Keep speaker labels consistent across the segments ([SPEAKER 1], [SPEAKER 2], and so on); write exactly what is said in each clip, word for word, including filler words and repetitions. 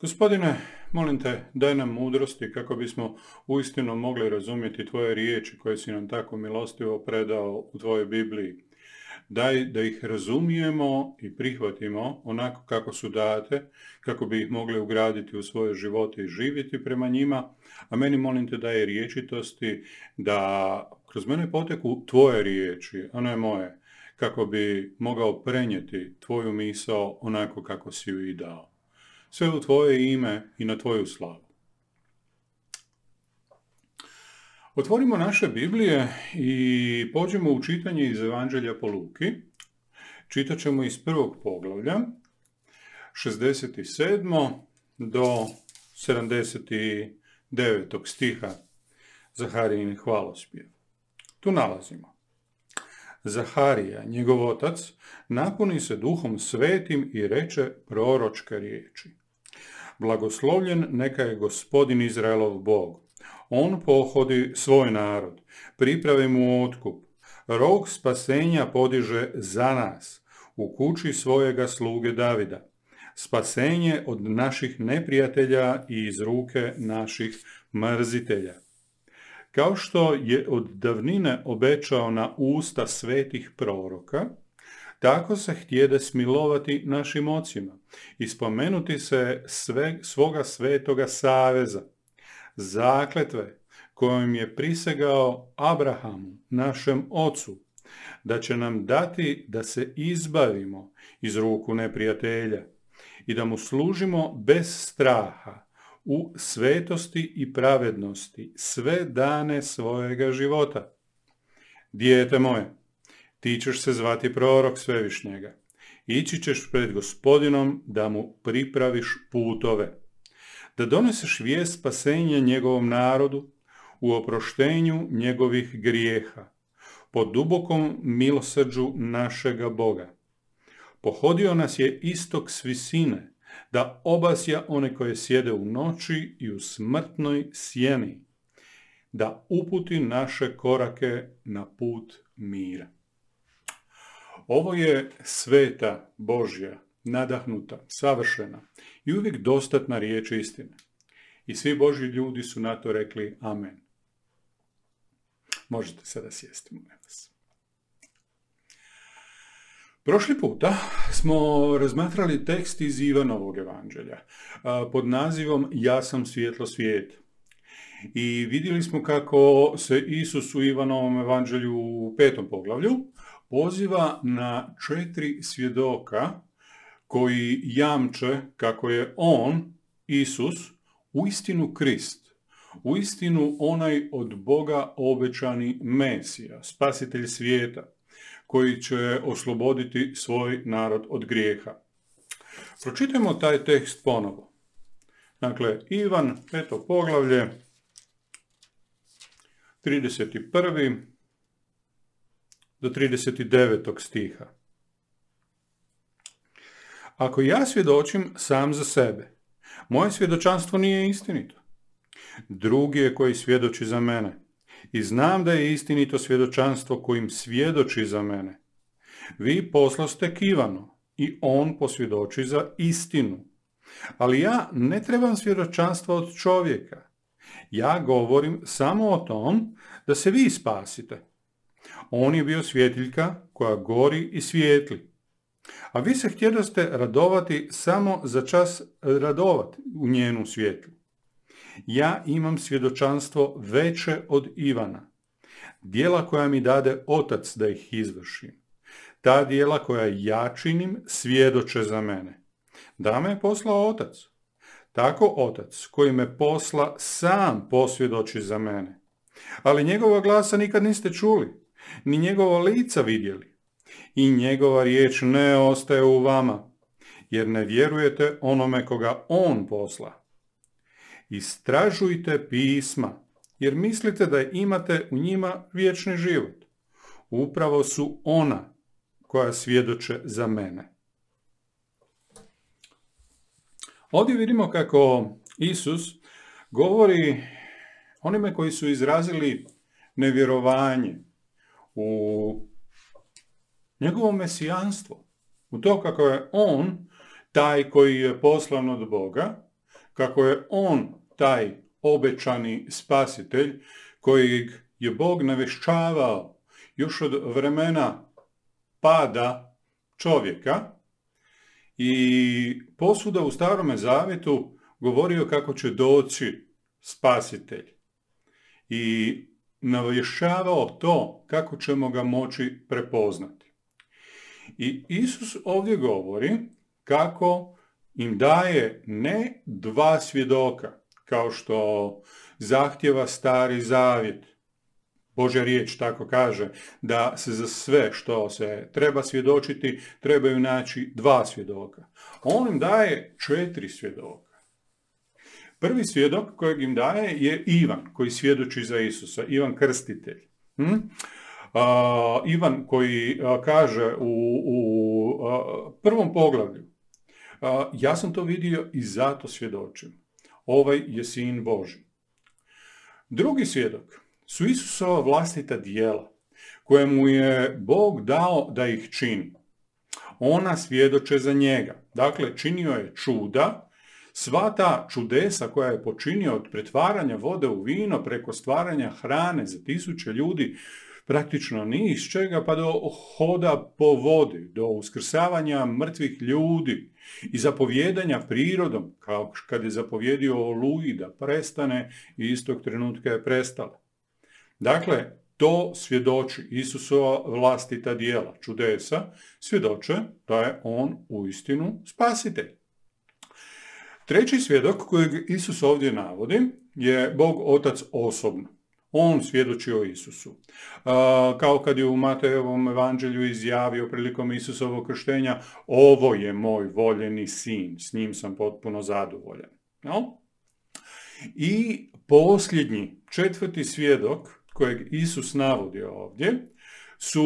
[SPEAKER 1] Gospodine, molim te, daj nam mudrosti kako bismo uistinu mogli razumjeti tvoje riječi koje si nam tako milostivo predao u tvojoj Bibliji. Daj da ih razumijemo i prihvatimo onako kako su date, kako bi ih mogli ugraditi u svoje živote i živjeti prema njima, a meni molim te daj riječitosti da kroz mene poteku tvoje riječi, a ne moje, kako bi mogao prenijeti tvoju misao onako kako si ju i dao. Sve u tvoje ime i na tvoju slavu. Otvorimo naše Biblije i pođemo u čitanje iz Evanđelja po Luki. Čitat ćemo iz prvog poglavlja, šezdeset sedmog do sedamdeset devetog stiha Zaharijin hvalospjev. Tu nalazimo: Zaharija, njegov otac, napuni se Duhom Svetim i reče proročke riječi. Blagoslovljen neka je Gospodin Izraelov Bog. On pohodi svoj narod, pripravi mu otkup. Rog spasenja podiže za nas u kući svojega sluge Davida. Spasenje od naših neprijatelja i iz ruke naših mrzitelja. Kao što je od davnine obećao na usta svetih proroka, tako se htjede smilovati našim ocima i spomenuti se sve, svoga svetoga saveza, zakletve kojom je prisegao Abrahamu, našem ocu, da će nam dati da se izbavimo iz ruku neprijatelja i da mu služimo bez straha, u svetosti i pravednosti sve dane svojega života. Dijete moje, ti ćeš se zvati prorok Svevišnjega. Ići ćeš pred Gospodinom da mu pripraviš putove, da doneseš vijest spasenja njegovom narodu u oproštenju njegovih grijeha, po dubokom milosrđu našega Boga. Pohodio nas je istok s visine, da obasja one koje sjede u noći i u smrtnoj sjeni, da uputi naše korake na put mira. Ovo je sveta Božja, nadahnuta, savršena i uvijek dostatna riječ istine. I svi Božji ljudi su na to rekli amen. Možete sada sjesti, molim vas. Prošli puta smo razmatrali tekst iz Ivanovog evanđelja pod nazivom Ja sam svjetlo svijeta. I vidjeli smo kako se Isus u Ivanovom evanđelju u petom poglavlju poziva na četiri svjedoka koji jamče kako je on, Isus, uistinu Krist, uistinu onaj od Boga obećani Mesija, spasitelj svijeta, koji će osloboditi svoj narod od grijeha. Pročitajmo taj tekst ponovo. Dakle, Ivan, peto poglavlje, trideset prvi do trideset devetog stiha. Ako ja svjedočim sam za sebe, moje svjedočanstvo nije istinito. Drugi je koji svjedoči za mene. I znam da je istinito svjedočanstvo kojim svjedoči za mene. Vi poslaste k Ivanu i on posvjedoči za istinu. Ali ja ne trebam svjedočanstva od čovjeka. Ja govorim samo o tom da se vi spasite. On je bio svjetiljka koja gori i svijetli. A vi se htjedoste radovati samo za čas radovati u njenu svjetlu. Ja imam svjedočanstvo veće od Ivana, djela koja mi dade Otac da ih izvršim. Ta djela koja ja činim svjedoče za mene. Da me je poslao Otac. Tako Otac koji me posla sam posvjedoči za mene. Ali njegova glasa nikad niste čuli, ni njegova lica vidjeli. I njegova riječ ne ostaje u vama, jer ne vjerujete onome koga on posla. Istražujte pisma, jer mislite da imate u njima vječni život. Upravo su ona koja svjedoče za mene. Ovdje vidimo kako Isus govori onime koji su izrazili nevjerovanje u njegovo mesijanstvo, u to kako je on taj koji je poslan od Boga, kako je on taj obećani spasitelj kojeg je Bog navješćavao još od vremena pada čovjeka i posvuda u Starome Zavjetu govorio kako će doći spasitelj i navješćavao to kako ćemo ga moći prepoznati. I Isus ovdje govori kako im daje ne dva svjedoka, kao što zahtjeva Stari Zavjet. Božja riječ tako kaže da se za sve što se treba svjedočiti trebaju naći dva svjedoka. On im daje četiri svjedoka. Prvi svjedok kojeg im daje je Ivan, koji svjedoči za Isusa, Ivan Krstitelj. Hm? Uh, Ivan koji uh, kaže u, u uh, prvom poglavlju, uh, ja sam to vidio i zato svjedočim. Ovaj je sin Božji. Drugi svjedok su Isusova vlastita djela, koje mu je Bog dao da ih čini. Ona svjedoče za njega. Dakle, činio je čuda. Sva ta čudesa koja je počinio od pretvaranja vode u vino preko stvaranja hrane za tisuće ljudi, praktično ni iz čega, pa do hoda po vodi, do uskrsavanja mrtvih ljudi i zapovjedanja prirodom, kao kad je zapovjedio Oluji da prestane i istog trenutka je prestala. Dakle, to svjedoči Isusova vlastita djela, čudesa, svjedoče da je on uistinu spasitelj. Treći svjedok kojeg Isus ovdje navodi je Bog Otac osobno. On svjedoči o Isusu. Kao kad je u Matejevom evanđelju izjavio prilikom Isusovog krštenja, ovo je moj voljeni sin, s njim sam potpuno zadovoljan. No? I posljednji, četvrti svjedok kojeg Isus navodi ovdje su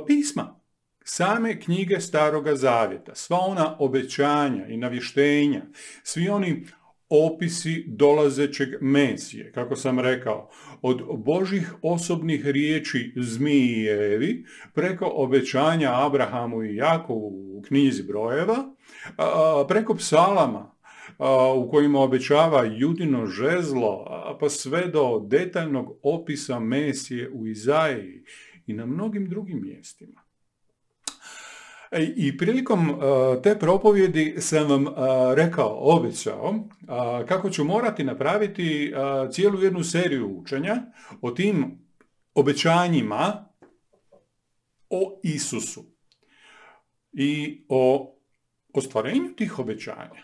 [SPEAKER 1] pisma. Same knjige Staroga Zavjeta, sva ona obećanja i navještenja, svi oni opisi dolazećeg Mesije, kako sam rekao, od Božjih osobnih riječi zmiji i Evi, preko obećanja Abrahamu i Jakovu u knjizi brojeva, preko psalama u kojima obećava Judino žezlo, pa sve do detaljnog opisa Mesije u Izaiji i na mnogim drugim mjestima. I prilikom uh, te propovjedi sam vam uh, rekao, obećao, uh, kako ću morati napraviti uh, cijelu jednu seriju učenja o tim obećanjima o Isusu i o ostvarenju tih obećanja.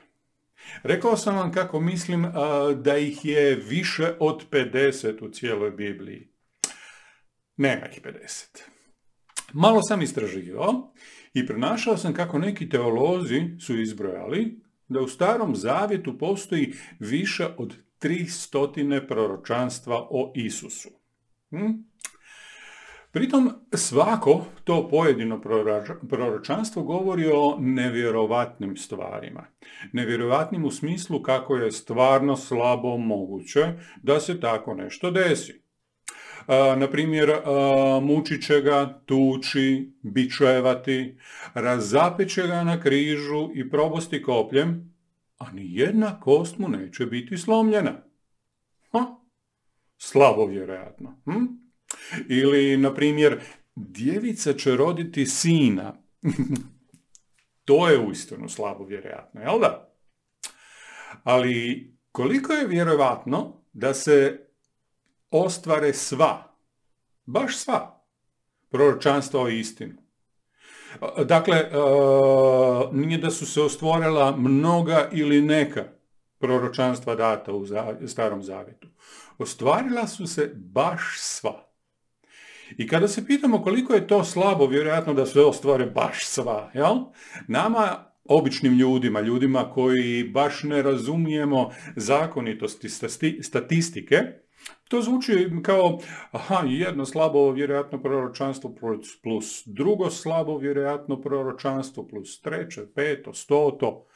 [SPEAKER 1] Rekao sam vam kako mislim uh, da ih je više od pedeset u cijeloj Bibliji. Nema ih pedeset. Malo sam istraživao i pronašao sam kako neki teolozi su izbrojali da u Starom Zavjetu postoji više od tri stotine proročanstva o Isusu. Hm? Pritom svako to pojedino proročanstvo govori o nevjerovatnim stvarima. Nevjerovatnim u smislu kako je stvarno slabo moguće da se tako nešto desi. Uh, na primjer, uh, mučit će ga, tući, bičevati, razapeće ga na križu i probosti kopljem, a ni jedna kost mu neće biti slomljena. Ha? Slabo vjerojatno. Hm? Ili, na primjer, djevica će roditi sina. To je uistinu slabo vjerojatno, jel da? Ali koliko je vjerojatno da se ostvare sva, baš sva, proročanstva o istinu. Dakle, nije da su se ostvorila mnoga ili neka proročanstva data u Starom Zavjetu. Ostvarila su se baš sva. I kada se pitamo koliko je to slabo, vjerojatno da se ostvare baš sva, jel? Nama, običnim ljudima, ljudima koji baš ne razumijemo zakonitosti statistike, to zvuči kao, aha, jedno slabo vjerojatno proročanstvo plus drugo slabo vjerojatno proročanstvo plus treće, peto, stoto.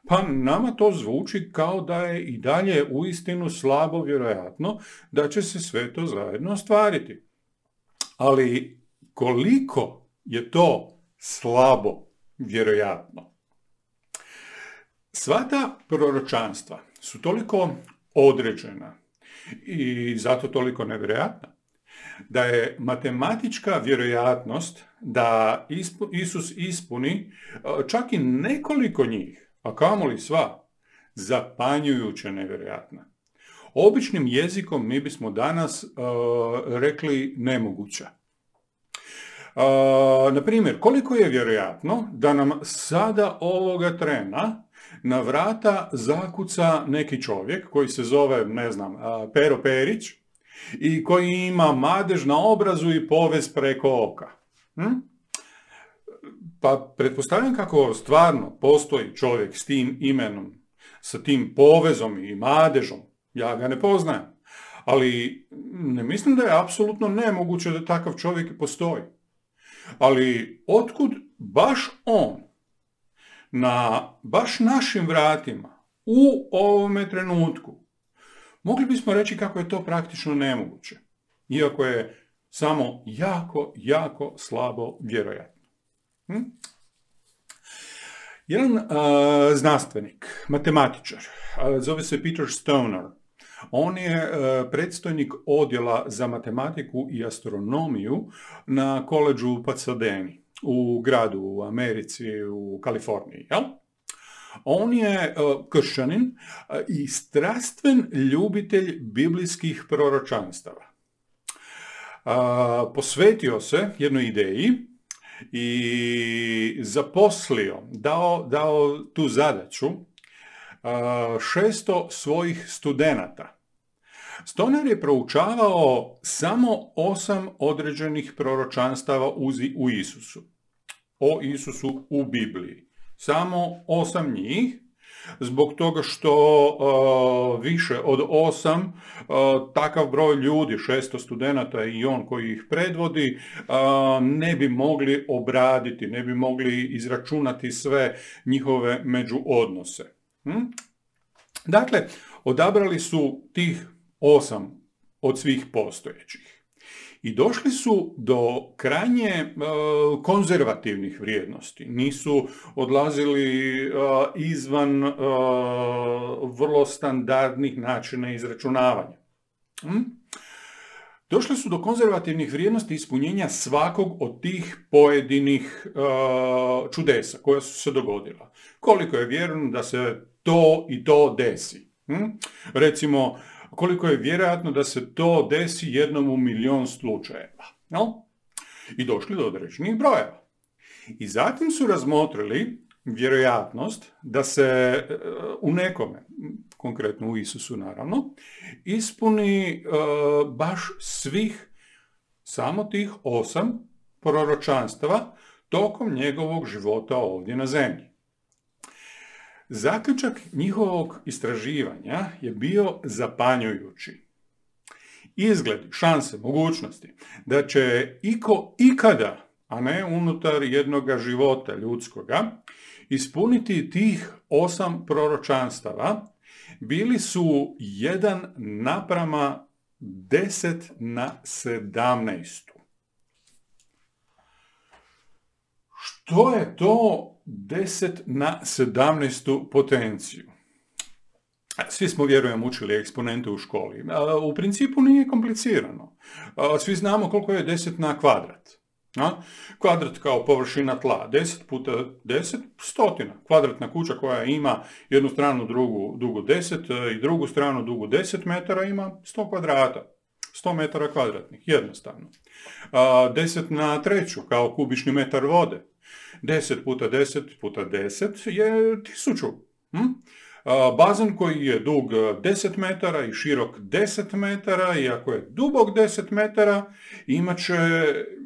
[SPEAKER 1] Pa nama to zvuči kao da je i dalje uistinu slabo vjerojatno da će se sve to zajedno ostvariti. Ali koliko je to slabo vjerojatno? Sva ta proročanstva su toliko određena i zato toliko nevjerojatna, da je matematička vjerojatnost da Isus ispuni čak i nekoliko njih, a kamoli sva, zapanjujuće nevjerojatna. Običnim jezikom mi bismo danas uh, rekli nemoguća. Uh, na primjer, koliko je vjerojatno da nam sada ovoga trena na vrata zakuca neki čovjek koji se zove, ne znam, uh, Pero Perić i koji ima madež na obrazu i povez preko oka. Hm? Pa pretpostavljam kako stvarno postoji čovjek s tim imenom, sa tim povezom i madežom. Ja ga ne poznajem, ali ne mislim da je apsolutno nemoguće da takav čovjek postoji. Ali otkud baš on na baš našim vratima u ovome trenutku? Mogli bismo reći kako je to praktično nemoguće, iako je samo jako, jako slabo vjerojatno. Hm? Jedan uh, znanstvenik, matematičar, uh, zove se Peter Stoner. On je uh, predstojnik odjela za matematiku i astronomiju na koledžu u Pasadeni, u gradu u Americi, u Kaliforniji. Jel? On je uh, kršćanin uh, i strastven ljubitelj biblijskih proročanstava. Uh, posvetio se jednoj ideji i zaposlio, dao, dao tu zadaću šesto svojih studenata. Stoner je proučavao samo osam određenih proročanstava u Isusu. O Isusu u Bibliji. Samo osam njih, zbog toga što uh, više od osam, uh, takav broj ljudi, šesto studenata i on koji ih predvodi, uh, ne bi mogli obraditi, ne bi mogli izračunati sve njihove međuodnose. Hm? Dakle, odabrali su tih osam od svih postojećih. I došli su do krajnje uh, konzervativnih vrijednosti. Nisu odlazili uh, izvan uh, vrlo standardnih načina izračunavanja. Hm? Došli su do konzervativnih vrijednosti ispunjenja svakog od tih pojedinih uh, čudesa koja su se dogodila. Koliko je vjerojatno da se to i to desi. Hm? Recimo, koliko je vjerojatno da se to desi jednom u milion slučajeva. No? I došli do određenih brojeva. I zatim su razmotrili vjerojatnost da se u nekome, konkretno u Isusu naravno, ispuni uh, baš svih, samo tih osam proročanstava tokom njegovog života ovdje na zemlji. Zaključak njihovog istraživanja je bio zapanjujući. Izgled, šanse, mogućnosti da će iko ikada, a ne unutar jednoga života ljudskoga, ispuniti tih osam proročanstava bili su jedan naprama deset na sedamnaest. Što je to deset na sedamnaestu potenciju? Svi smo, vjerujem, učili eksponente u školi. U principu nije komplicirano. Svi znamo koliko je deset na kvadrat. Kvadrat kao površina tla, deset puta deset, stotina. Kvadratna kuća koja ima jednu stranu drugu, dugu deset i drugu stranu dugu deset metara ima sto kvadrata. sto metara kvadratnih, jednostavno. deset na treću kao kubični metar vode. deset puta deset puta deset je tisuću. Hm? Bazen koji je dug deset metara i širok deset metara, i ako je dubok deset metara, imat će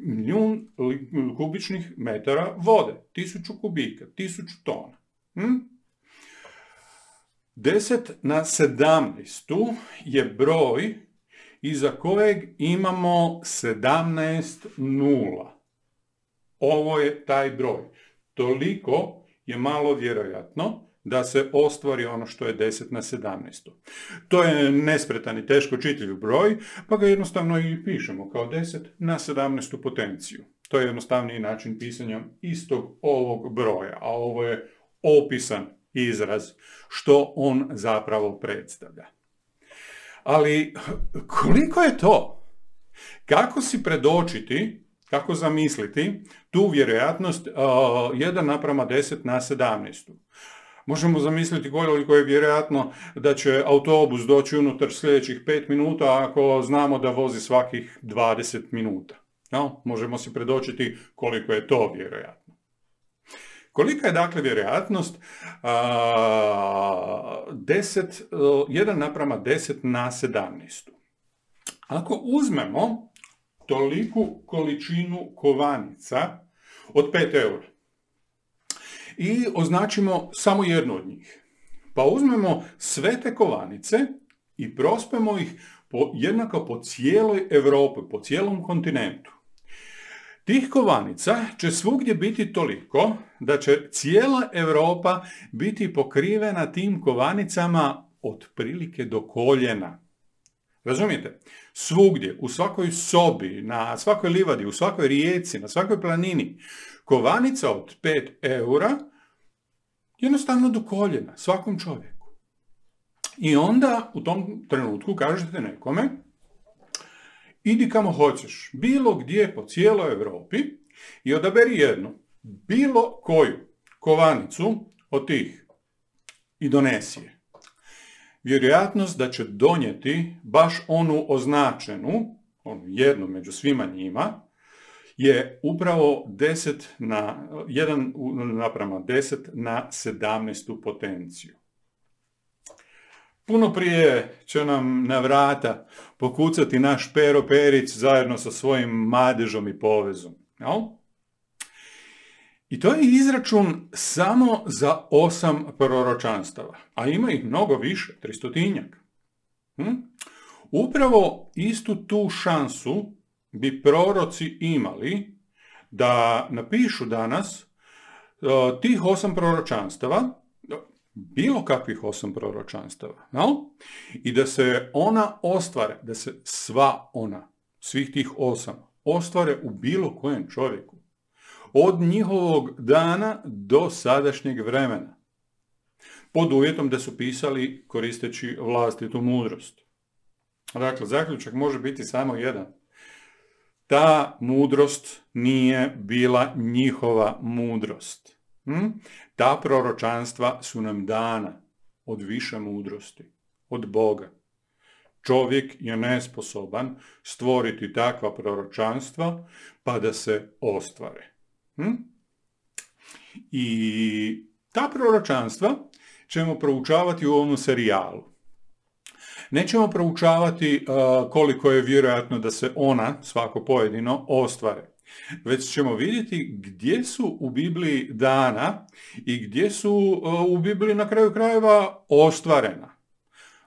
[SPEAKER 1] milijun kubičnih metara vode. Tisuću kubika, tisuću tona. Hm? deset na sedamnaest je broj iza kojeg imamo sedamnaest nula. Ovo je taj broj. Toliko je malo vjerojatno da se ostvari ono što je deset na sedamnaest. To je nespretan i teško čitljiv broj, pa ga jednostavno i pišemo kao deset na sedamnaestu potenciju. To je jednostavniji način pisanja istog ovog broja, a ovo je opisan izraz što on zapravo predstavlja. Ali koliko je to? Kako si predočiti, kako zamisliti tu vjerojatnost uh, jedan naprama deset na sedamnaest? Možemo zamisliti koliko je vjerojatno da će autobus doći unutar sljedećih pet minuta ako znamo da vozi svakih dvadeset minuta. No, možemo si predočiti koliko je to vjerojatno. Kolika je dakle vjerojatnost a, deset, jedan naprama deset na sedamnaest? Ako uzmemo toliku količinu kovanica od pet eura i označimo samo jednu od njih, pa uzmemo sve te kovanice i prospemo ih po, jednako po cijeloj Europi, po cijelom kontinentu. Tih kovanica će svugdje biti toliko da će cijela Europa biti pokrivena tim kovanicama otprilike do koljena. Razumijete? Svugdje, u svakoj sobi, na svakoj livadi, u svakoj rijeci, na svakoj planini, kovanica od pet eura jednostavno do koljena, svakom čovjeku. I onda u tom trenutku kažete nekome, idi kamo hoćeš, bilo gdje po cijeloj Europi i odaberi jednu, bilo koju kovanicu od tih i donesi je. Vjerojatnost da će donijeti baš onu označenu, onu jednu među svima njima, je upravo deset na, jedan naprama deset na sedamnaest potenciju. Puno prije će nam na vrata pokucati naš Pero Perić zajedno sa svojim madežom i povezom. Jel? I to je izračun samo za osam proročanstava, a ima ih mnogo više, tristotinjak. Hm? Upravo istu tu šansu bi proroci imali da napišu danas uh, tih osam proročanstava, bilo kakvih osam proročanstava, no? I da se ona ostvare, da se sva ona, svih tih osam, ostvare u bilo kojem čovjeku. Od njihovog dana do sadašnjeg vremena. Pod uvjetom da su pisali koristeći vlastitu mudrost. Dakle, zaključak može biti samo jedan. Ta mudrost nije bila njihova mudrost. Hm? Ta proročanstva su nam dana od više mudrosti, od Boga. Čovjek je nesposoban stvoriti takva proročanstva pa da se ostvare. Hm? I ta proročanstva ćemo proučavati u ovom serijalu. Nećemo proučavati uh, koliko je vjerojatno da se ona, svako pojedino, ostvare. Već ćemo vidjeti gdje su u Bibliji dana i gdje su uh, u Bibliji na kraju krajeva ostvarena.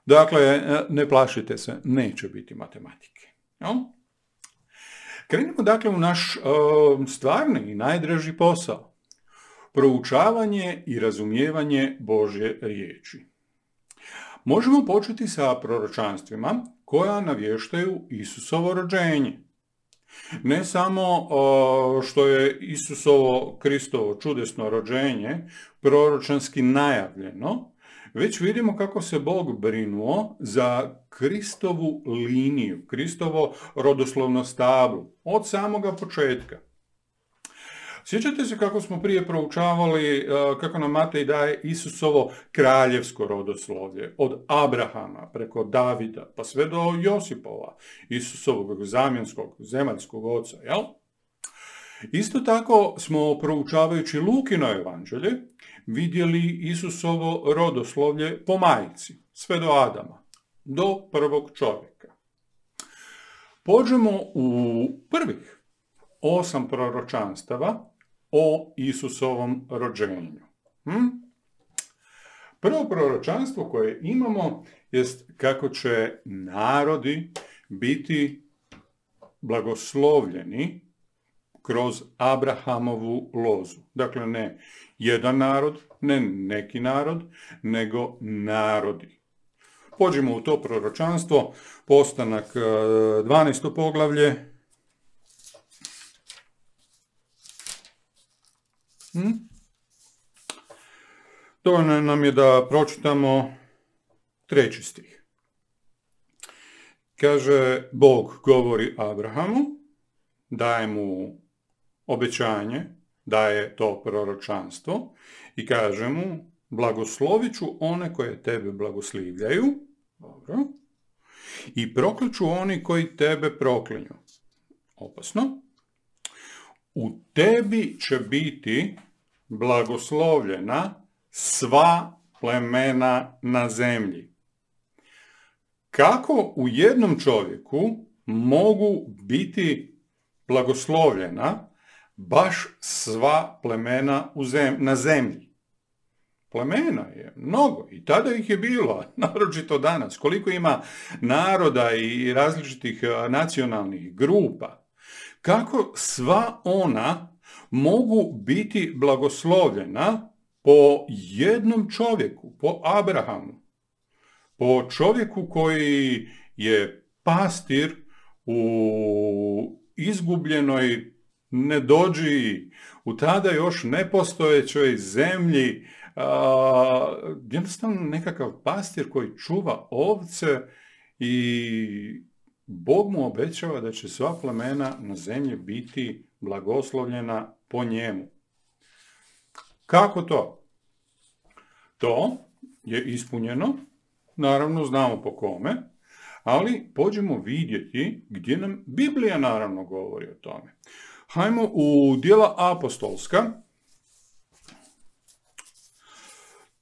[SPEAKER 1] Dakle, ne plašite se, neće biti matematike. No? Krenimo dakle u naš uh, stvarni i najdraži posao. Proučavanje i razumijevanje Božje riječi. Možemo početi sa proročanstvima koja navještaju Isusovo rođenje. Ne samo uh, što je Isusovo Kristovo čudesno rođenje proročanski najavljeno, već vidimo kako se Bog brinuo za Kristovu liniju, Kristovo rodoslovno stablo, od samoga početka. Sjećate se kako smo prije proučavali, kako nam Matej daje Isusovo kraljevsko rodoslovlje, od Abrahama preko Davida, pa sve do Josipova, Isusovog zamjenskog, zemaljskog oca, jel? Isto tako smo, proučavajući Lukino evanđelje, vidjeli Isusovo rodoslovlje po majci, sve do Adama, do prvog čovjeka. Pođemo u prvih osam proročanstava o Isusovom rođenju. Hm? Prvo proročanstvo koje imamo jest kako će narodi biti blagoslovljeni kroz Abrahamovu lozu. Dakle, ne jedan narod, ne neki narod, nego narodi. Pođemo u to proročanstvo, Postanak dvanaesto poglavlje. dovoljno nam je da pročitamo treći stih. Kaže, Bog govori Abrahamu, daje mu obećanje, daje to proročanstvo i kaže mu, blagoslovit ću one koje tebe blagoslivljaju, dobro, i prokliču oni koji tebe proklinju. Opasno. U tebi će biti blagoslovljena sva plemena na zemlji. Kako u jednom čovjeku mogu biti blagoslovljena baš sva plemena u zem- na zemlji? Plemena je mnogo i tada ih je bilo, naročito danas. Koliko ima naroda i različitih nacionalnih grupa. Kako sva ona mogu biti blagoslovljena po jednom čovjeku, po Abrahamu, po čovjeku koji je pastir u izgubljenoj nedođiji, u tada još nepostojećoj zemlji, a, jednostavno nekakav pastir koji čuva ovce i Bog mu obećava da će sva plemena na zemlji biti blagoslovljena po njemu. Kako to? To je ispunjeno, naravno znamo po kome, ali pođemo vidjeti gdje nam Biblija naravno govori o tome. Hajmo u Djela apostolska,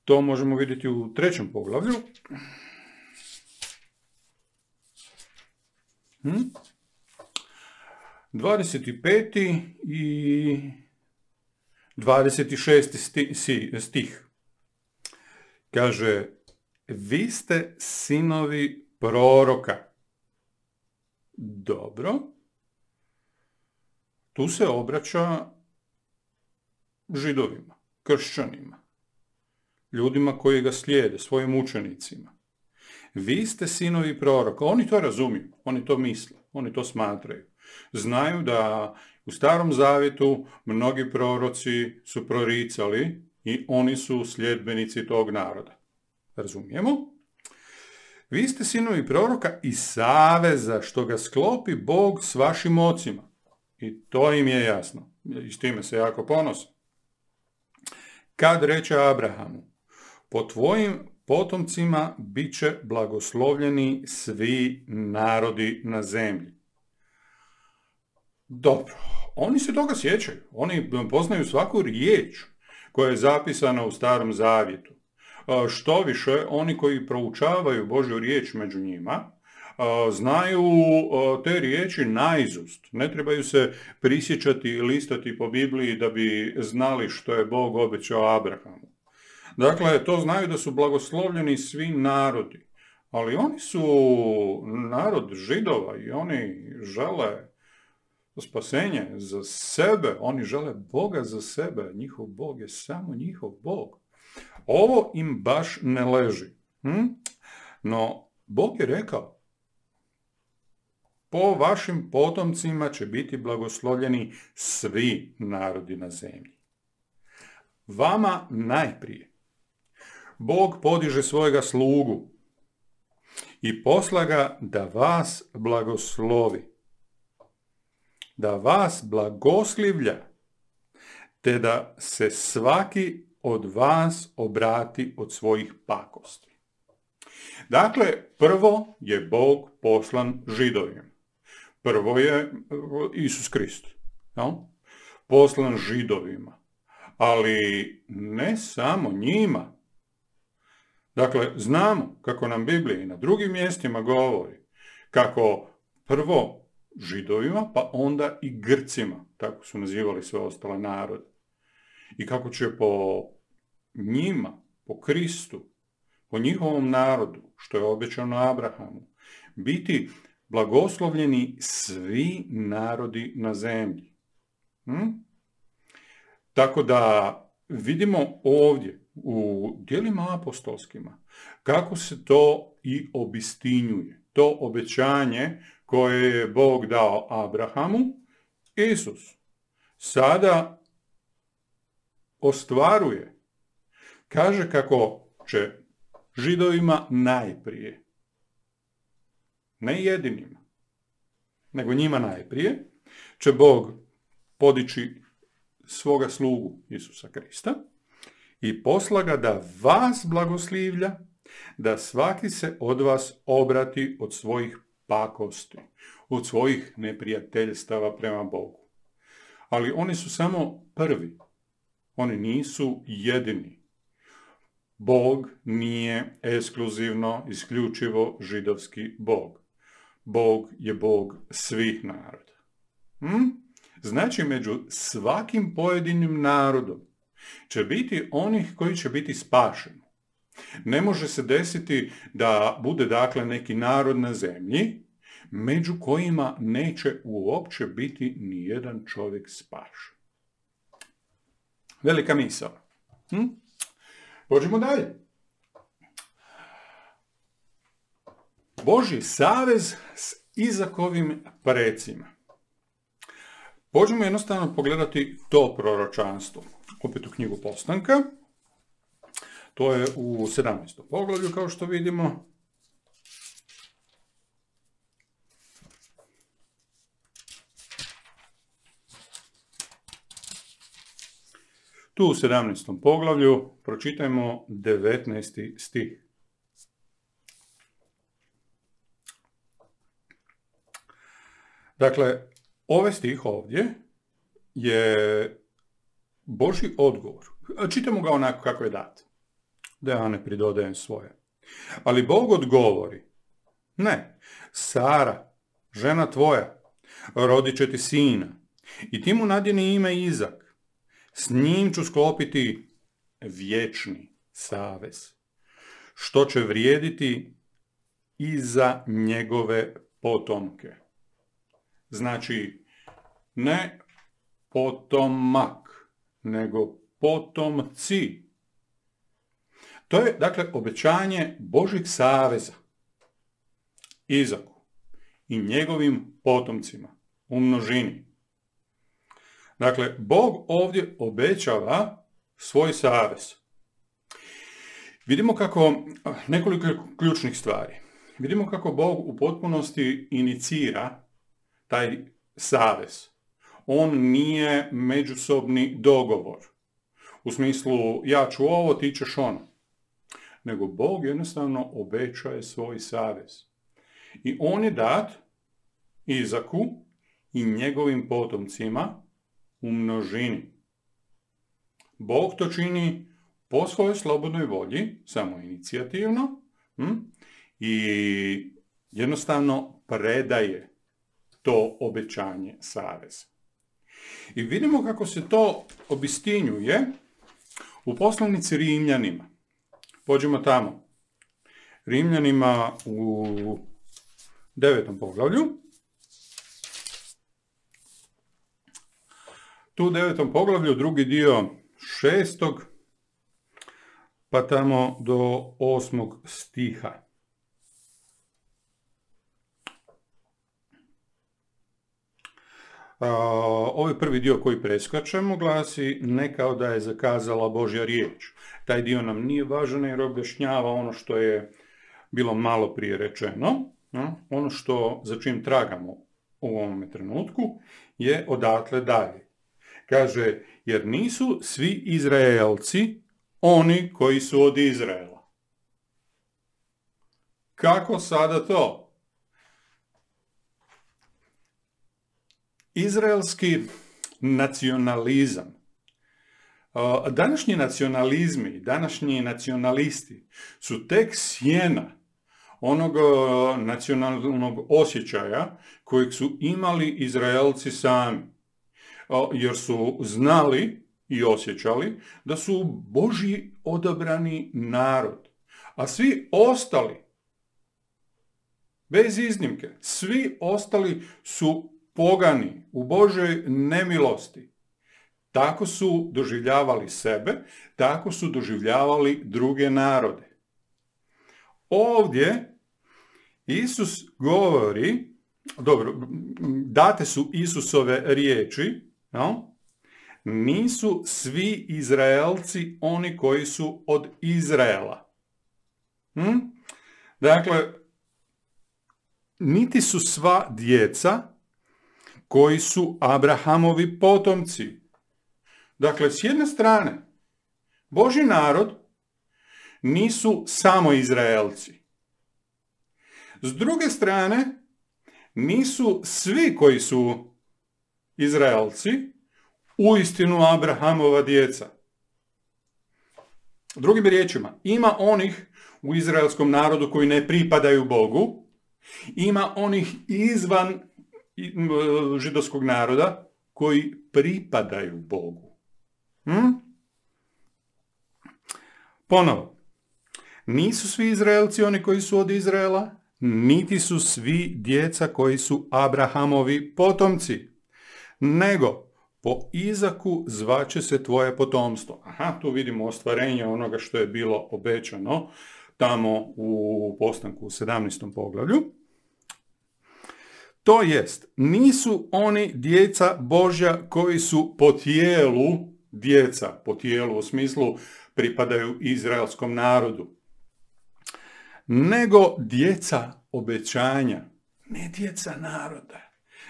[SPEAKER 1] to možemo vidjeti u trećem poglavlju. Hmm? dvadeset peti i dvadeset šesti stih. Kaže, vi ste sinovi proroka. Dobro. Tu se obraća Židovima, kršćanima, ljudima koji ga slijede, svojim učenicima. Vi ste sinovi proroka. Oni to razumiju, oni to misle, oni to smatraju. Znaju da u Starom Zavjetu mnogi proroci su proricali i oni su sljedbenici tog naroda. Razumijemo? Vi ste sinovi proroka i saveza što ga sklopi Bog s vašim ocima. I to im je jasno. I s time se jako ponose. Kad reče Abrahamu, po tvojim potomcima bit će blagoslovljeni svi narodi na zemlji. Dobro, oni se toga sjećaju. Oni poznaju svaku riječ koja je zapisana u Starom Zavjetu. Što više, oni koji proučavaju Božju riječ među njima, znaju te riječi naizust. Ne trebaju se prisjećati i listati po Bibliji da bi znali što je Bog obećao Abrahamu. Dakle, to znaju da su blagoslovljeni svi narodi. Ali oni su narod Židova i oni žele spasenje za sebe. Oni žele Boga za sebe. Njihov Bog je samo njihov Bog. Ovo im baš ne leži. Hm? No, Bog je rekao, po vašim potomcima će biti blagoslovljeni svi narodi na zemlji. Vama najprije Bog podiže svojega slugu i posla ga da vas blagoslovi, da vas blagoslivlja, te da se svaki od vas obrati od svojih pakosti. Dakle, prvo je Bog poslan Židovima. Prvo je Isus Krist. No? Poslan Židovima. Ali ne samo njima. Dakle, znamo kako nam Biblija i na drugim mjestima govori kako prvo Židovima, pa onda i Grcima, tako su nazivali sve ostale narode. I kako će po njima, po Kristu, po njihovom narodu, što je obećano Abrahamu, biti blagoslovljeni svi narodi na zemlji. Hm? Tako da vidimo ovdje u djelima apostolskima kako se to i obistinjuje. To obećanje koje je Bog dao Abrahamu, Isus sada ostvaruje kaže kako će Židovima najprije, ne jedinima, nego njima najprije, će Bog podići svoga slugu Isusa Krista i posla ga da vas blagoslivlja, da svaki se od vas obrati od svojih pakosti, od svojih neprijateljstava prema Bogu. Ali oni su samo prvi. Oni nisu jedini. Bog nije ekskluzivno, isključivo židovski Bog. Bog je Bog svih naroda. Hm? Znači, među svakim pojedinim narodom će biti onih koji će biti spašeni. Ne može se desiti da bude dakle neki narod na zemlji među kojima neće uopće biti ni jedan čovjek spašen. Velika misao. Hm? Pođemo dalje. Božji savez s Izakovim precima. Pođemo jednostavno pogledati to proročanstvo. Opet u knjigu Postanka. To je u sedamnaestom poglavlju, kao što vidimo. Tu u sedamnaestom poglavlju pročitajmo devetnaesti stih. Dakle, ovaj stih ovdje je Božji odgovor. Čitamo ga onako kako je dat. Da ja ne pridodajem svoje. Ali Bog odgovori, ne, Sara, žena tvoja, rodit će ti sina i ti mu nadjeni ime Izak. S njim ću sklopiti vječni savez, što će vrijediti i za njegove potomke. Znači, ne potomak, nego potomci. To je, dakle, obećanje Božjeg saveza Izaku i njegovim potomcima u množini. Dakle, Bog ovdje obećava svoj savez. Vidimo kako, nekoliko ključnih stvari. Vidimo kako Bog u potpunosti inicira taj savez. On nije međusobni dogovor. U smislu, ja ću ovo, ti ćeš ono. Nego Bog jednostavno obećaje svoj savez. I on je dat Izaku i njegovim potomcima u množini. Bog to čini po svojoj slobodnoj volji, samo inicijativno, hm? I jednostavno predaje to obećanje saveza. I vidimo kako se to obistinjuje u poslanici Rimljanima. Pođemo tamo. Rimljanima u devetom poglavlju. Tu u devetom poglavlju, drugi dio šestog, pa tamo do osmog stiha. Uh, ovaj prvi dio koji preskačemo glasi ne kao da je zakazala Božja riječ. Taj dio nam nije važan jer objašnjava ono što je bilo malo prije rečeno. No? Ono što za čim tragamo u ovom trenutku je odatle dalje. Kaže, jer nisu svi Izraelci oni koji su od Izraela. Kako sada to? Izraelski nacionalizam. Današnji nacionalizmi, današnji nacionalisti su tek sjena onog nacionalnog osjećaja kojeg su imali Izraelci sami. Jer su znali i osjećali da su Božji odabrani narod. A svi ostali, bez iznimke, svi ostali su pogani u Božoj nemilosti. Tako su doživljavali sebe, tako su doživljavali druge narode. Ovdje Isus govori, dobro, date su Isusove riječi, no? nisu svi Izraelci oni koji su od Izraela. Hm? Dakle, niti su sva djeca koji su Abrahamovi potomci. Dakle, s jedne strane, Božji narod nisu samo Izraelci. S druge strane, nisu svi koji su Izraelci uistinu Abrahamova djeca. Drugim riječima, ima onih u izraelskom narodu koji ne pripadaju Bogu, ima onih izvan židovskog naroda koji pripadaju Bogu. Hm? Ponovo, nisu svi Izraelci oni koji su od Izraela, niti su svi djeca koji su Abrahamovi potomci, nego po Izaku zvaće se tvoje potomstvo. Aha, tu vidimo ostvarenje onoga što je bilo obećano tamo u postanku u sedamnaestom poglavlju. To jest, nisu oni djeca Božja koji su po tijelu djeca, po tijelu u smislu pripadaju izraelskom narodu, nego djeca obećanja, ne djeca naroda,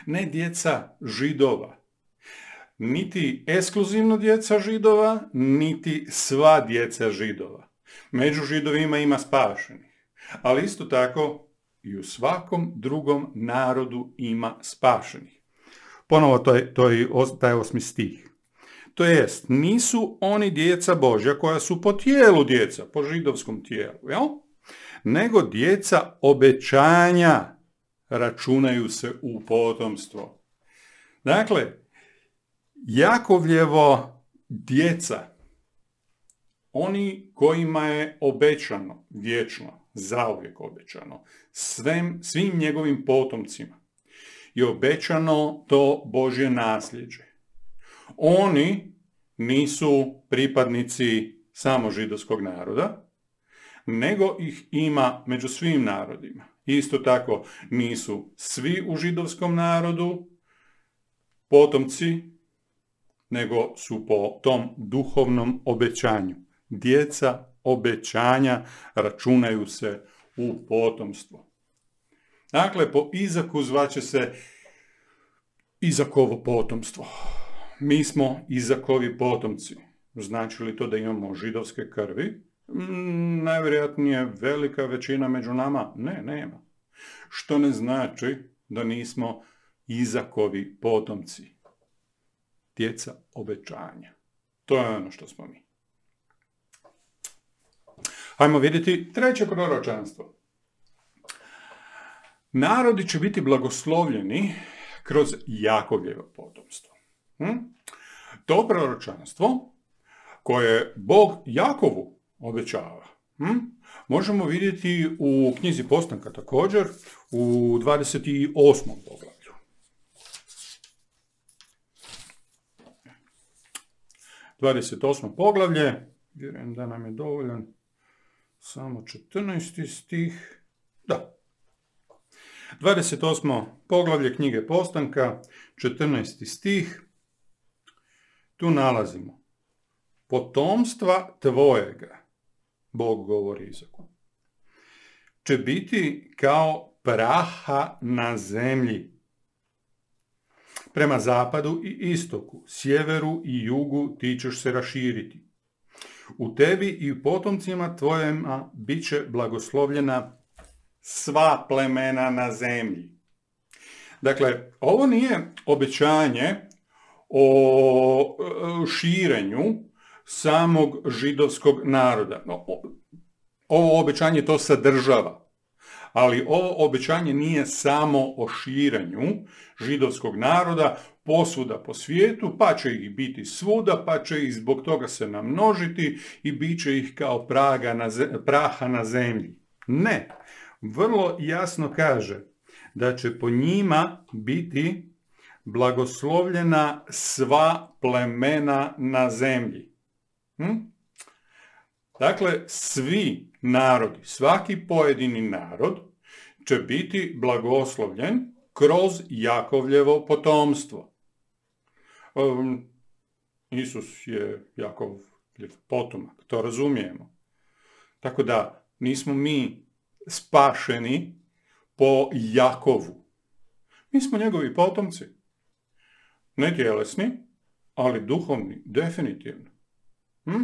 [SPEAKER 1] ne djeca Židova, niti ekskluzivno djeca Židova, niti sva djeca Židova. Među Židovima ima spašenih, ali isto tako i u svakom drugom narodu ima spašenih. Ponovo to je, to je taj osmi stih. To jest, nisu oni djeca Božja koja su po tijelu djeca, po židovskom tijelu, jel? Nego djeca obećanja računaju se u potomstvo. Dakle, Jakovljevo djeca, oni kojima je obećano, vječno, zauvijek obećano, svim, svim njegovim potomcima je obećano to Božje nasljeđe. Oni nisu pripadnici samo židovskog naroda, nego ih ima među svim narodima. Isto tako nisu svi u židovskom narodu potomci, nego su po tom duhovnom obećanju. Djeca obećanja računaju se u potomstvo. Dakle, po Izaku zvaće se Izakovo potomstvo. Mi smo Izakovi potomci. Znači li to da imamo židovske krvi? Mm, najvjerojatnije velika većina među nama? Ne, nema. Što ne znači da nismo Izakovi potomci. Djeca obećanja. To je ono što smo mi. Hajmo vidjeti treće proročanstvo. Narodi će biti blagoslovljeni kroz Jakovljevo potomstvo. Hm? To proročanstvo koje Bog Jakovu obećava, hm? možemo vidjeti u knjizi Postanka također u dvadeset osmom poglavlju. dvadeset osmo poglavlje, vjerujem da nam je dovoljan samo četrnaesti stih. Da. dvadeset osmo poglavlje knjige Postanka, četrnaesti stih. Tu nalazimo: potomstva tvojega, Bog govori Izaku, će biti kao praha na zemlji. Prema zapadu i istoku, sjeveru i jugu ti ćeš se raširiti. U tebi i u potomcima tvojima bit će blagoslovljena sva plemena na zemlji. Dakle, ovo nije obećanje o širenju samog židovskog naroda. Ovo obećanje to sadržava. Ali ovo obećanje nije samo o širenju židovskog naroda posvuda po svijetu, pa će ih biti svuda, pa će ih zbog toga se namnožiti i bit će ih kao praga na ze- praha na zemlji. Ne, vrlo jasno kaže da će po njima biti blagoslovljena sva plemena na zemlji. Hm? Dakle, svi narodi, svaki pojedini narod će biti blagoslovljen kroz Jakovljevo potomstvo. Um, Isus je Jakov potomak, to razumijemo. Tako da nismo mi spašeni po Jakovu. Mi smo njegovi potomci. Ne tjelesni, ali duhovni, definitivno. Hm?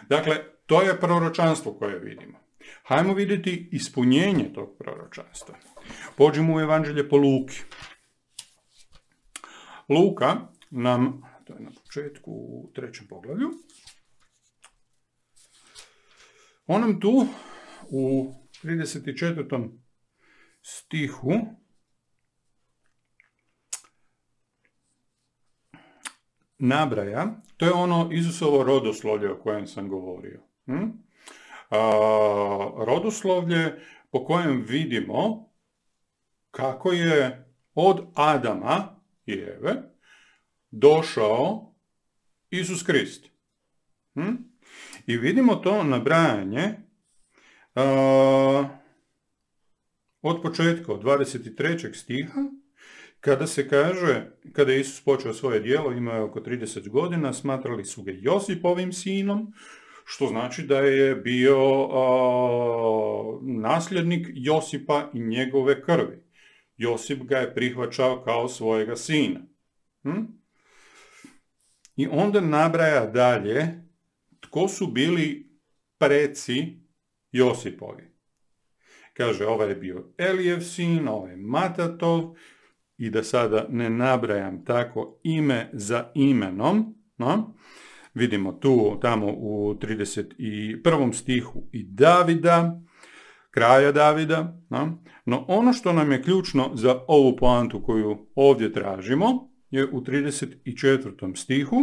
[SPEAKER 1] Dakle, to je proročanstvo koje vidimo. Hajmo vidjeti ispunjenje tog proročanstva. Pođimo u Evanđelje po Luki. Luka nam, to je na početku u trećem poglavlju, on nam tu u trideset četvrtom stihu nabraja, to je ono Isusovo rodoslovlje o kojem sam govorio. Hm? A, rodoslovlje po kojem vidimo kako je od Adama i Eve došao Isus Krist. Hm? I vidimo to nabrajanje a, od početka, od dvadeset trećeg stiha, kada se kaže, kada je Isus počeo svoje djelo, imao je oko trideset godina, smatrali su ga Josipovim sinom, što znači da je bio a, nasljednik Josipa i njegove krvi. Josip ga je prihvaćao kao svojega sina. Hm? I onda nabraja dalje tko su bili preci Josipovi. Kaže, ovaj je bio Elijev sin, ovaj je Matatov, i da sada ne nabrajam tako ime za imenom, no? Vidimo tu, tamo u trideset prvom stihu i Davida, kraja Davida, no? No ono što nam je ključno za ovu poantu koju ovdje tražimo, je u trideset četvrtom stihu,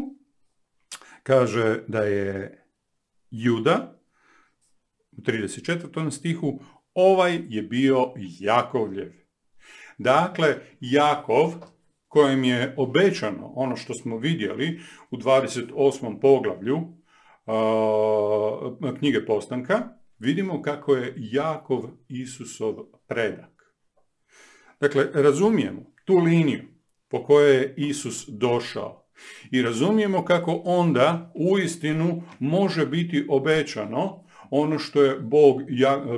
[SPEAKER 1] kaže da je Juda, u trideset četvrtom stihu, ovaj je bio Jakovljev. Dakle, Jakov, kojem je obećano ono što smo vidjeli u dvadeset osmom poglavlju uh, knjige Postanka, vidimo kako je Jakov Isusov predak. Dakle, razumijemo tu liniju po kojoj je Isus došao i razumijemo kako onda uistinu može biti obećano ono što je Bog,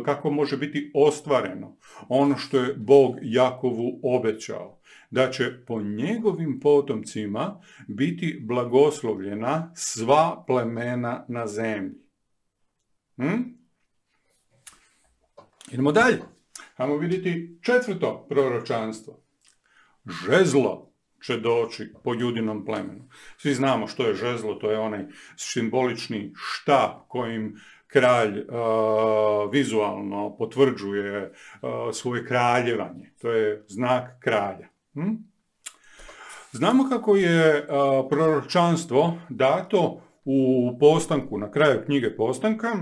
[SPEAKER 1] kako može biti ostvareno, ono što je Bog Jakovu obećao, da će po njegovim potomcima biti blagoslovljena sva plemena na zemlji. Hm? Idemo dalje. Hajmo vidjeti četvrto proročanstvo. Žezlo će doći po Judinom plemenu. Svi znamo što je žezlo, to je onaj simbolični štap kojim kralj uh, vizualno potvrđuje uh, svoje kraljevanje. To je znak kralja. Hm? Znamo kako je uh, proročanstvo dato u Postanku, na kraju knjige Postanka.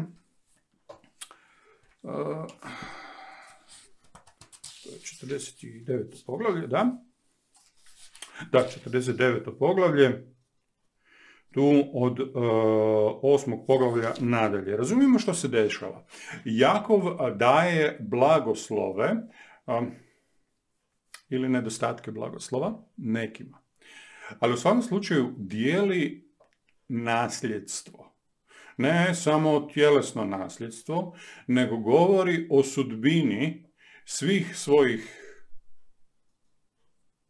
[SPEAKER 1] Uh, to je četrdeset deveto poglavlje, da? Da, četrdeset deveto poglavlje. Tu od uh, osmog poglavlja nadalje. Razumijemo što se dešava. Jakov daje blagoslove um, ili nedostatke blagoslova nekima. Ali u svakom slučaju dijeli nasljedstvo. Ne samo tjelesno nasljedstvo, nego govori o sudbini svih svojih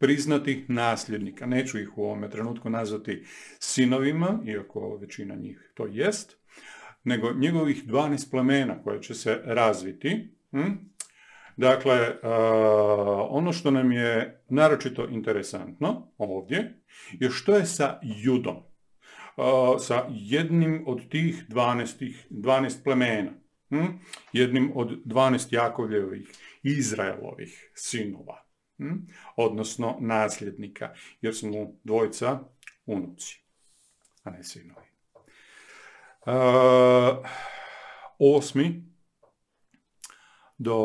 [SPEAKER 1] priznatih nasljednika. Neću ih u ovome trenutku nazvati sinovima, iako većina njih to jest, nego njegovih dvanaest plemena koje će se razviti. Hm? Dakle, uh, ono što nam je naročito interesantno ovdje je što je sa Judom, uh, sa jednim od tih dvanaest, dvanaest plemena, hm? jednim od dvanaest Jakovljevih, Izraelovih sinova. Hmm? Odnosno nasljednika, jer su mu dvojica unuci, a ne sinovi. Uh, osmi do,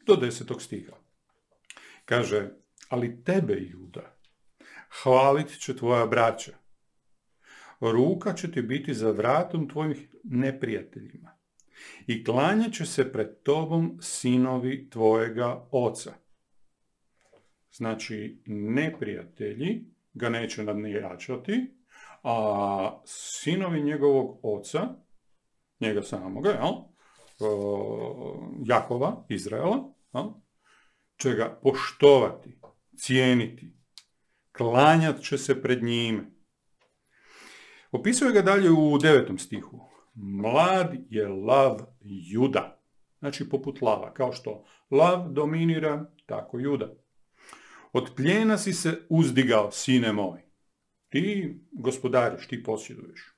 [SPEAKER 1] do desetog stiha. Kaže, ali tebe, Juda, hvalit će tvoja braća. Ruka će ti biti za vratom tvojih neprijateljima i klanjat će se pred tobom sinovi tvojega oca. Znači, neprijatelji ga neće nadjačati, a sinovi njegovog oca, njega samoga, jel? Jakova, Izraela, jel? Će ga poštovati, cijeniti, klanjat će se pred njime. Opisuje ga dalje u devetom stihu. Mlad je lav Juda. Znači poput lava. Kao što lav dominira, tako Juda. Od plijena si se uzdigao, sine moj. Ti gospodariš, ti posjeduješ.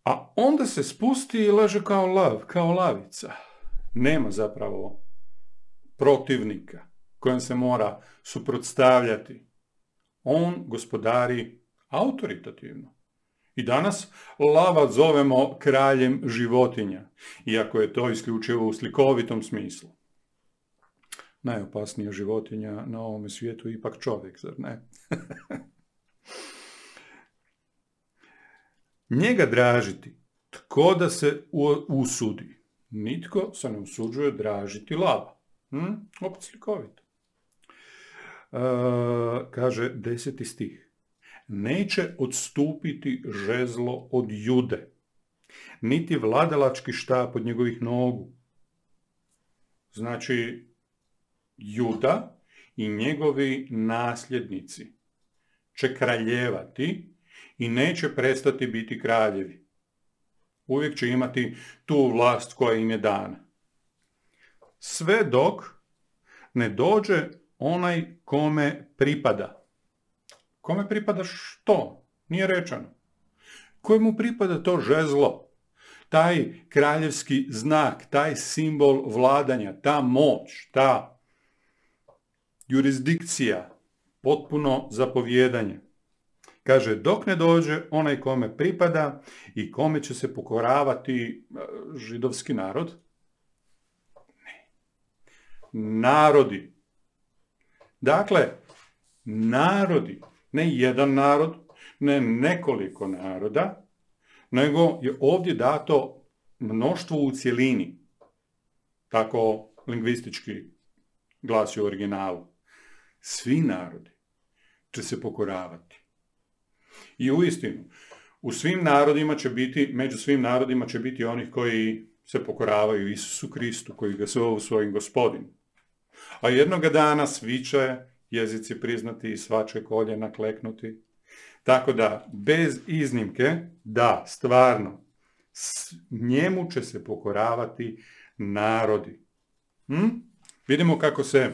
[SPEAKER 1] A onda se spusti i leže kao lav, kao lavica. Nema zapravo protivnika kojem se mora suprotstavljati. On gospodari autoritativno. I danas lava zovemo kraljem životinja, iako je to isključivo u slikovitom smislu. Najopasnija životinja na ovome svijetu je ipak čovjek, zar ne? Njega dražiti, tko da se usudi? Nitko se ne usuđuje dražiti lava. Hm? Opet slikovito. E, kaže deseti stih. Neće odstupiti žezlo od Jude, niti vladalački štap od njegovih nogu. Znači, Juda i njegovi nasljednici će kraljevati i neće prestati biti kraljevi. Uvijek će imati tu vlast koja im je dana. Sve dok ne dođe onaj kome pripada. Kome pripada što? Nije rečeno. Kojemu pripada to žezlo? Taj kraljevski znak, taj simbol vladanja, ta moć, ta jurisdikcija, potpuno zapovjedanje. Kaže, dok ne dođe onaj kome pripada i kome će se pokoravati židovski narod? Ne. Narodi. Dakle, narodi. Ne jedan narod, ne nekoliko naroda, nego je ovdje dato mnoštvo u cjelini. Tako lingvistički glasi u originalu. Svi narodi će se pokoravati. I uistinu, u svim narodima će biti, među svim narodima će biti onih koji se pokoravaju Isusu Kristu, koji ga zovu svojim gospodinom. A jednoga dana svi će jezici priznati i sva će koljena kleknuti. Tako da, bez iznimke, da, stvarno, njemu će se pokoravati narodi. Hm? Vidimo kako se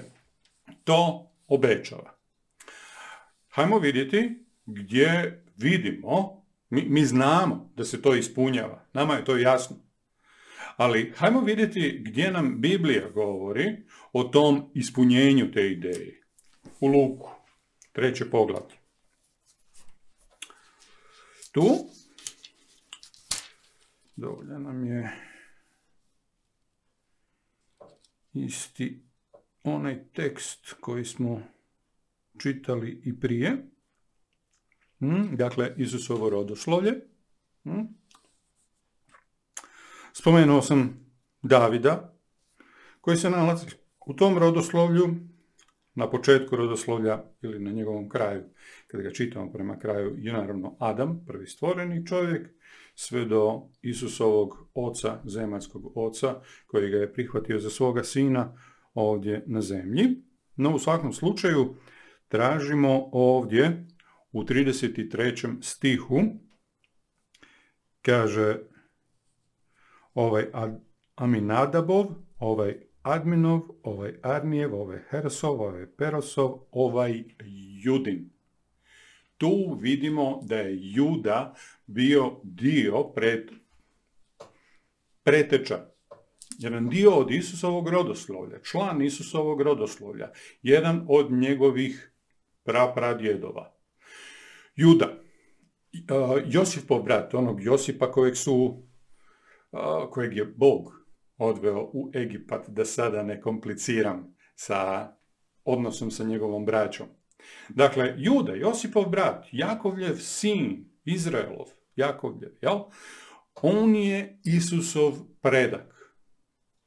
[SPEAKER 1] to obećava. Hajmo vidjeti gdje vidimo, mi, mi znamo da se to ispunjava, nama je to jasno. Ali hajmo vidjeti gdje nam Biblija govori o tom ispunjenju te ideje. U Luku, treće poglavlje. Tu, dovoljan nam je isti onaj tekst koji smo čitali i prije. Hmm, dakle, Isusovo rodoslovlje. Hmm. Spomenuo sam Davida, koji se nalazi u tom rodoslovlju, na početku rodoslovlja ili na njegovom kraju. Kada ga čitamo prema kraju, je naravno Adam, prvi stvoreni čovjek, sve do Isusovog oca, zemaljskog oca, koji ga je prihvatio za svoga sina ovdje na zemlji. No u svakom slučaju tražimo ovdje u trideset trećem stihu, kaže ovaj Aminadabov, ovaj Adminov, ovaj Arnijev, ovaj Hersov, ovaj Perosov, ovaj Judin. Tu vidimo da je Juda bio dio pred preteča. Jedan dio od Isusovog rodoslovlja, član Isusovog rodoslovlja, jedan od njegovih prapradjedova. Juda, Josipov brat, onog Josipa kojeg su, kojeg je Bog odveo u Egipat, da sada ne kompliciram sa odnosom sa njegovom braćom. Dakle, Juda, Josipov brat, Jakovljev sin, Izraelov, Jakovljev, jel? On je Isusov predak.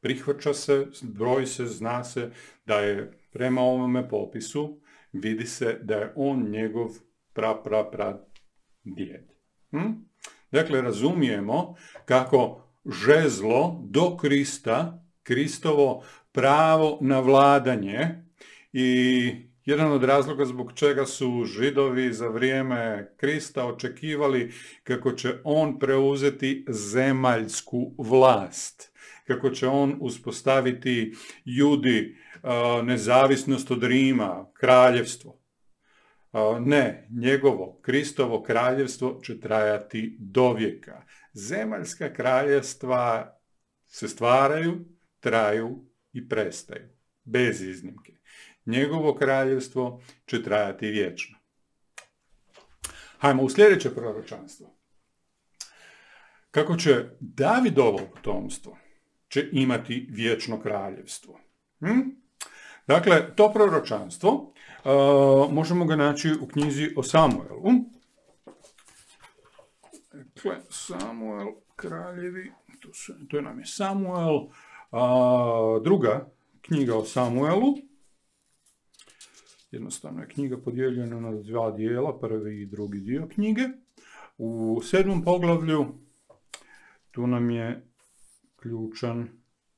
[SPEAKER 1] Prihvaća se, broji se, zna se da je prema ovome popisu vidi se da je on njegov pra, pra, pra djed. Hm? Dakle, razumijemo kako žezlo do Krista, Kristovo pravo na vladanje i jedan od razloga zbog čega su Židovi za vrijeme Krista očekivali kako će on preuzeti zemaljsku vlast, kako će on uspostaviti Judi nezavisnost od Rima, kraljevstvo. Ne, njegovo, Kristovo kraljevstvo će trajati do vijeka. Zemaljska kraljevstva se stvaraju, traju i prestaju, bez iznimke. Njegovo kraljevstvo će trajati vječno. Hajmo u sljedeće proročanstvo. Kako će Davidovo potomstvo će imati vječno kraljevstvo. Hm? Dakle, to proročanstvo uh, možemo ga naći u knjizi o Samuelu. Dakle, Samuel, kraljevi, to, su, to je nam je Samuel, uh, druga knjiga o Samuelu. Jednostavno je knjiga podijeljena na dva dijela, prvi i drugi dio knjige. U sedmom poglavlju tu nam je ključan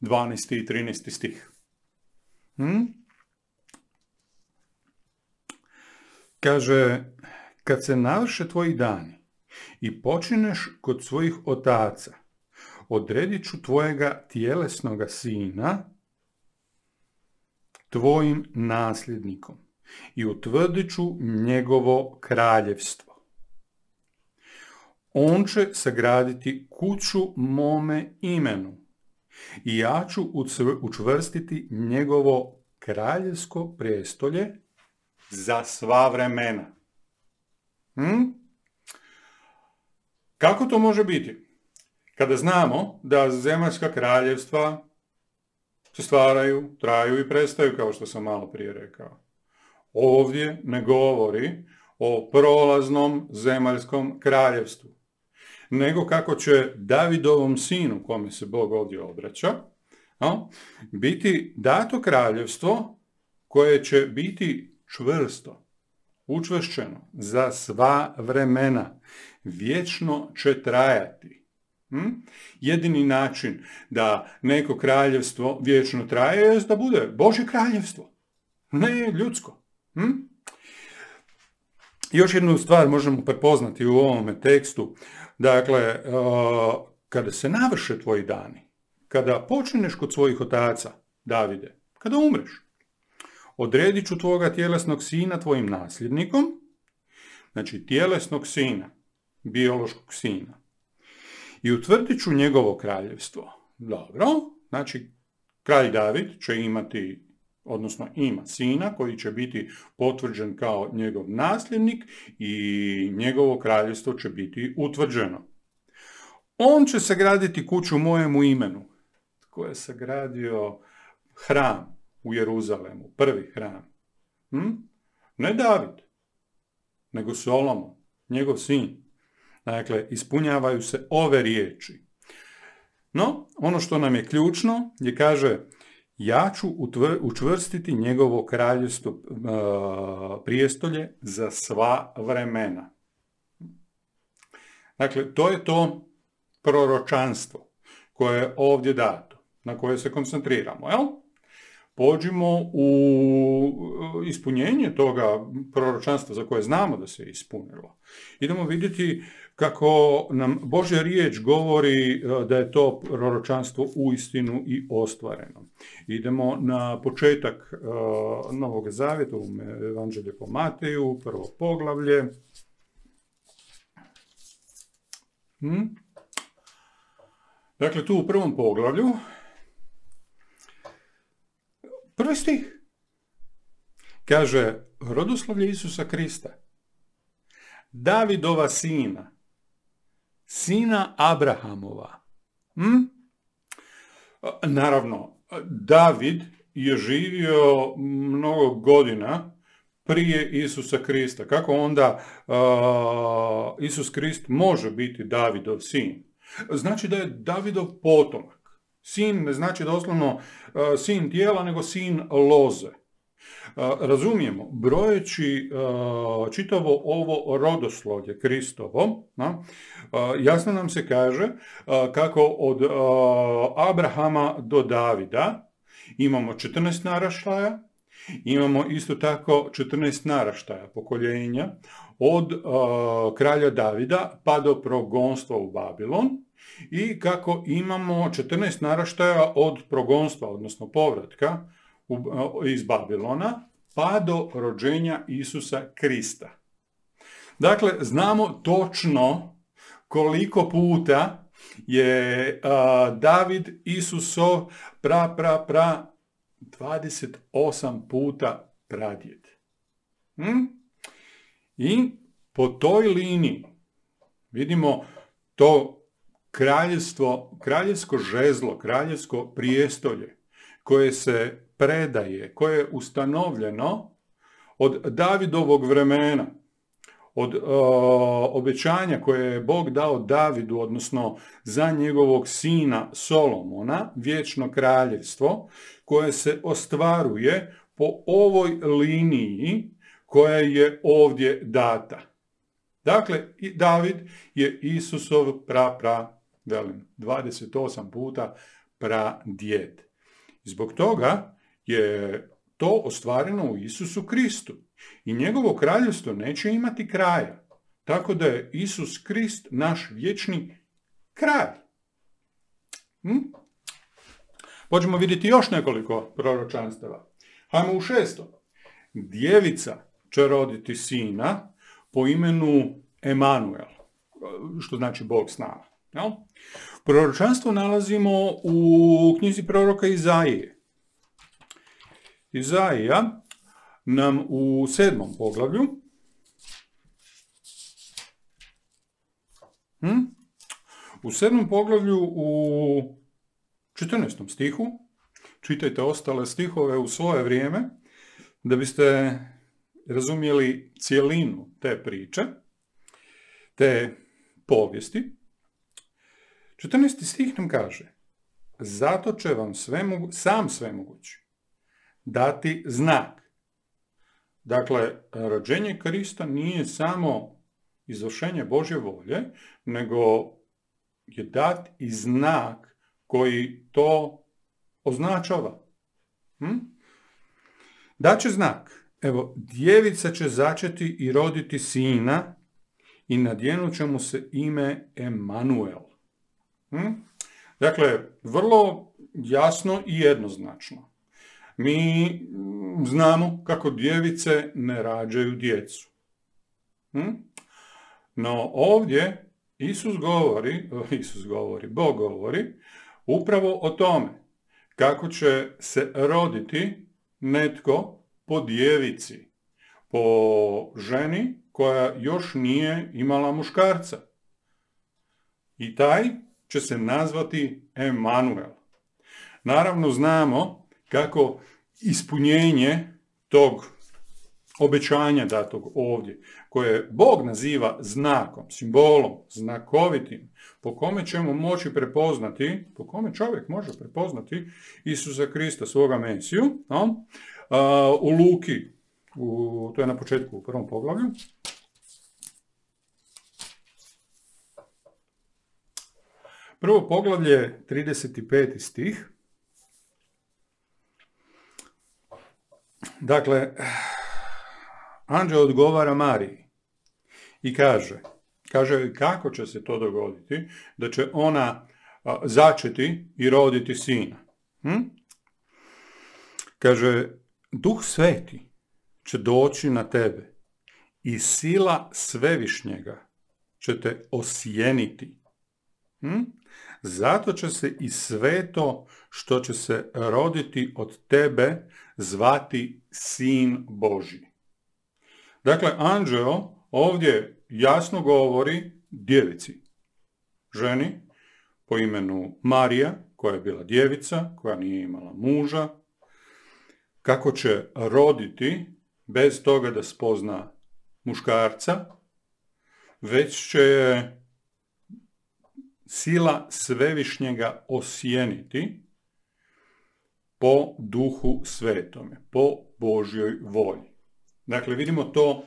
[SPEAKER 1] dvanaesti i trinaesti stih. Hm? Kaže, kad se navrše tvoji dani i počineš kod svojih otaca, odredit ću tvojega tjelesnoga sina tvojim nasljednikom i utvrdit ću njegovo kraljevstvo. On će sagraditi kuću mome imenu i ja ću učvrstiti njegovo kraljevsko prijestolje za sva vremena. Hm? Kako to može biti? Kada znamo da zemaljska kraljevstva se stvaraju, traju i prestaju, kao što sam malo prije rekao. Ovdje ne govori o prolaznom zemaljskom kraljevstvu, nego kako će Davidovom sinu, kome se Bog ovdje obraća, no, biti dato kraljevstvo koje će biti čvrsto, učvršćeno za sva vremena, vječno će trajati. Hm? Jedini način da neko kraljevstvo vječno traje je da bude Božje kraljevstvo, ne ljudsko. Hm? Još jednu stvar možemo prepoznati u ovome tekstu. Dakle, kada se navrše tvoji dani, kada počineš kod svojih otaca, Davide, kada umreš, odredit ću tvoga tjelesnog sina tvojim nasljednikom, znači tjelesnog sina, biološkog sina, i utvrdit ću njegovo kraljevstvo. Dobro, znači kralj David će imati, odnosno ima sina koji će biti potvrđen kao njegov nasljednik i njegovo kraljevstvo će biti utvrđeno. On će sagraditi kuću mojemu imenu. Tko je sagradio hram u Jeruzalemu, prvi hram? Hm? Ne David, nego Solomon, njegov sin. Dakle, ispunjavaju se ove riječi. No, ono što nam je ključno je, kaže, ja ću učvrstiti njegovo kraljevstvo uh, prijestolje za sva vremena. Dakle, to je to proročanstvo koje je ovdje dato, na koje se koncentriramo, jel? Pođimo u ispunjenje toga proročanstva za koje znamo da se ispunilo. Idemo vidjeti kako nam Božja riječ govori da je to proročanstvo uistinu i ostvareno. Idemo na početak uh, Novog Zavjeta, u Evanđelje po Mateju, prvo poglavlje. Hm? Dakle, tu u prvom poglavlju, prvi stih, kaže, rodoslovlje Isusa Krista, Davidova sina, sina Abrahamova. Hm? Naravno, David je živio mnogo godina prije Isusa Krista. Kako onda uh, Isus Krist može biti Davidov sin? Znači da je Davidov potomak. Sin ne znači doslovno uh, sin tijela, nego sin loze. Razumijemo, brojeći čitavo ovo rodoslovlje Kristovo, jasno nam se kaže kako od Abrahama do Davida imamo četrnaest naraštaja, imamo isto tako četrnaest naraštaja pokoljenja od kralja Davida pa do progonstva u Babilon i kako imamo četrnaest naraštaja od progonstva, odnosno povratka iz Babilona, pa do rođenja Isusa Krista. Dakle, znamo točno koliko puta je uh, David Isusov pra, pra, pra, dvadeset osam puta pradjed. Hm? I po toj liniji vidimo to kraljevstvo, kraljevsko žezlo, kraljevsko prijestolje koje se predaje, koje je ustanovljeno od Davidovog vremena, od uh, obećanja koje je Bog dao Davidu, odnosno za njegovog sina Solomona, vječno kraljevstvo, koje se ostvaruje po ovoj liniji koja je ovdje data. Dakle, David je Isusov pra, pra, velim, dvadeset osam puta pradjed. Zbog toga je to ostvareno u Isusu Kristu. I njegovo kraljevstvo neće imati kraja. Tako da je Isus Krist naš vječni kralj. Hm? Možemo vidjeti još nekoliko proročanstava. Hajmo u šesto. Djevica će roditi sina po imenu Emanuel, što znači Bog s nama. Jel? Proročanstvo nalazimo u knjizi proroka Izaije. Izaija nam u sedmom poglavlju hm? u sedmom poglavlju u četrnaestom stihu, čitajte ostale stihove u svoje vrijeme, da biste razumjeli cjelinu te priče, te povijesti. četrnaesti stih nam kaže: zato će vam svemogu, sam svemogući dati znak. Dakle, rođenje Krista nije samo izvršenje Božje volje, nego je dat i znak koji to označava. Hm? Daće znak. Evo, djevica će začeti i roditi sina i nadjenut će mu se ime Emanuel. Hm? Dakle, vrlo jasno i jednoznačno. Mi znamo kako djevice ne rađaju djecu. Hm? No ovdje Isus govori, Isus govori, Bog govori upravo o tome kako će se roditi netko po djevici, po ženi koja još nije imala muškarca. I taj će se nazvati Emanuel. Naravno znamo kako ispunjenje tog obećanja datog ovdje, koje Bog naziva znakom, simbolom, znakovitim, po kome ćemo moći prepoznati, po kome čovjek može prepoznati Isusa Krista, svoga Mesiju, no? A, u Luki, u, to je na početku u prvom poglavlju, prvo poglavlje, trideset peti stih. Dakle, anđeo odgovara Mariji i kaže, kaže kako će se to dogoditi, da će ona a, začeti i roditi sina. Hm? Kaže, Duh Sveti će doći na tebe i sila Svevišnjega će te osjeniti. Hm? Zato će se i sve to što će se roditi od tebe zvati Sin Božji. Dakle, anđeo ovdje jasno govori djevici, ženi po imenu Marija, koja je bila djevica, koja nije imala muža, kako će roditi bez toga da spozna muškarca, već će je sila Svevišnjega osjeniti po duhu svetome, po Božjoj volji. Dakle, vidimo to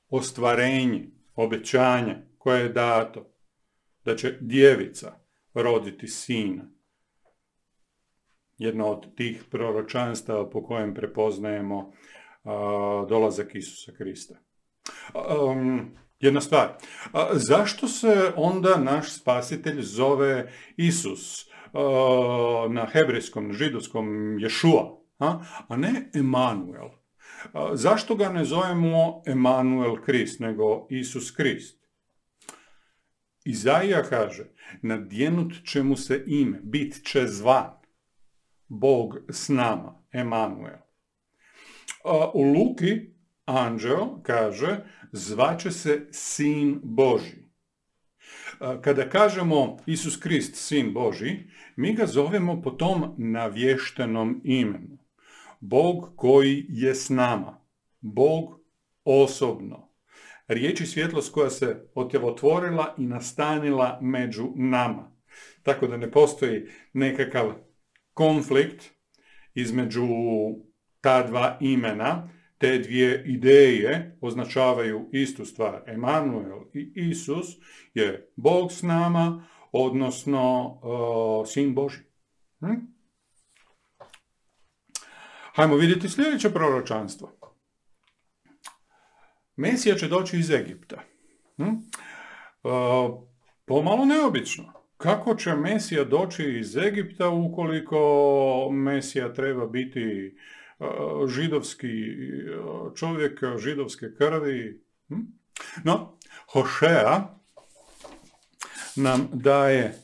[SPEAKER 1] ostvarenje, obećanje koje je dato, da će djevica roditi sina. Jedno od tih proročanstava po kojem prepoznajemo uh, dolazak Isusa Krista. Um, jedna stvar, uh, zašto se onda naš spasitelj zove Isus? Uh, na hebrejskom, na židovskom Ješua, a, a ne Emanuel. Uh, zašto ga ne zovemo Emanuel Krist, nego Isus Krist? Izaija kaže, nadjenut će mu se ime, bit će zvan, Bog s nama, Emanuel. U Luki anđeo kaže, zvaće se Sin Božji. Kada kažemo Isus Krist, Sin Božji, mi ga zovemo po tom navještenom imenu. Bog koji je s nama, Bog osobno. Riječi svjetlost koja se otvorila i nastanila među nama. Tako da ne postoji nekakav konflikt između ta dva imena, te dvije ideje označavaju istu stvar. Emanuel i Isus je Bog s nama, odnosno uh, Sin Božji. Hm? Hajmo vidjeti sljedeće proročanstvo. Mesija će doći iz Egipta. Hm? Uh, pomalo neobično. Kako će Mesija doći iz Egipta ukoliko Mesija treba biti uh, židovski uh, čovjek, židovske krvi? Hm? No, Hošea nam daje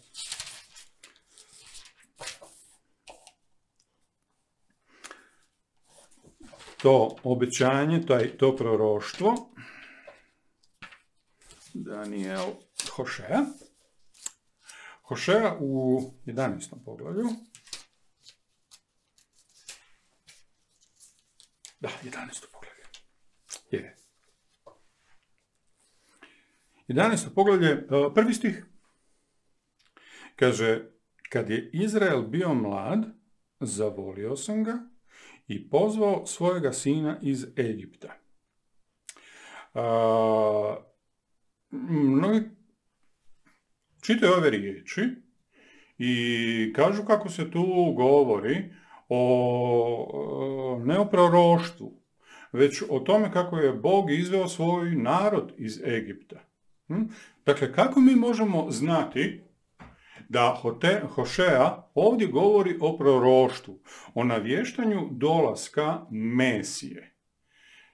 [SPEAKER 1] to obećanje, taj, to proroštvo. Daniel Hošea. Hošea u jedanaestom poglavlju. Da, jedanaesto poglavlje. Je. jedanaesto poglavlje, prvi stih. Kaže, kad je Izrael bio mlad, zavolio sam ga i pozvao svojega sina iz Egipta. A, mnogi čitaju ove riječi i kažu kako se tu govori o, ne o proroštvu, već o tome kako je Bog izveo svoj narod iz Egipta. Hm? Dakle, kako mi možemo znati da Hošea ovdje govori o proroštvu, o navještanju dolaska Mesije?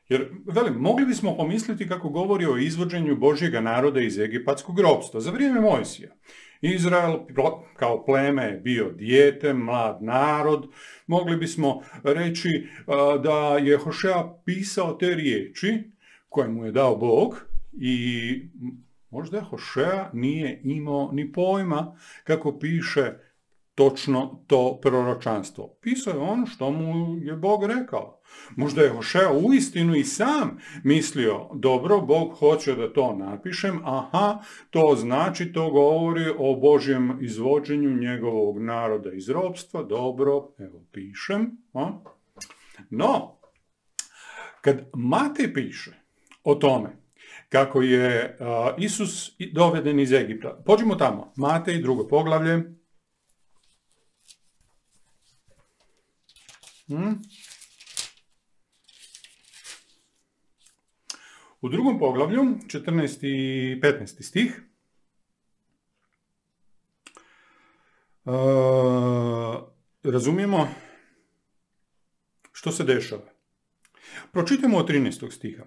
[SPEAKER 1] Jer, velim, mogli bismo pomisliti kako govori o izvođenju Božjega naroda iz egipatskog ropstva za vrijeme Mojsija. Izrael kao pleme je bio dijete, mlad narod. Mogli bismo reći da je Hošea pisao te riječi koje mu je dao Bog i možda Hošea nije imao ni pojma kako piše točno to proročanstvo. Pisao je ono što mu je Bog rekao. Možda je Hošea uistinu i sam mislio, dobro, Bog hoće da to napišem, aha, to znači, to govori o Božjem izvođenju njegovog naroda iz ropstva, dobro, evo pišem. A? No, kad Matej piše o tome kako je uh, Isus doveden iz Egipta, pođimo tamo, Matej, drugo poglavlje. Hmm. U drugom poglavlju, četrnaesti i petnaesti stih, uh, razumijemo što se dešava. Pročitamo od trinaestog stiha.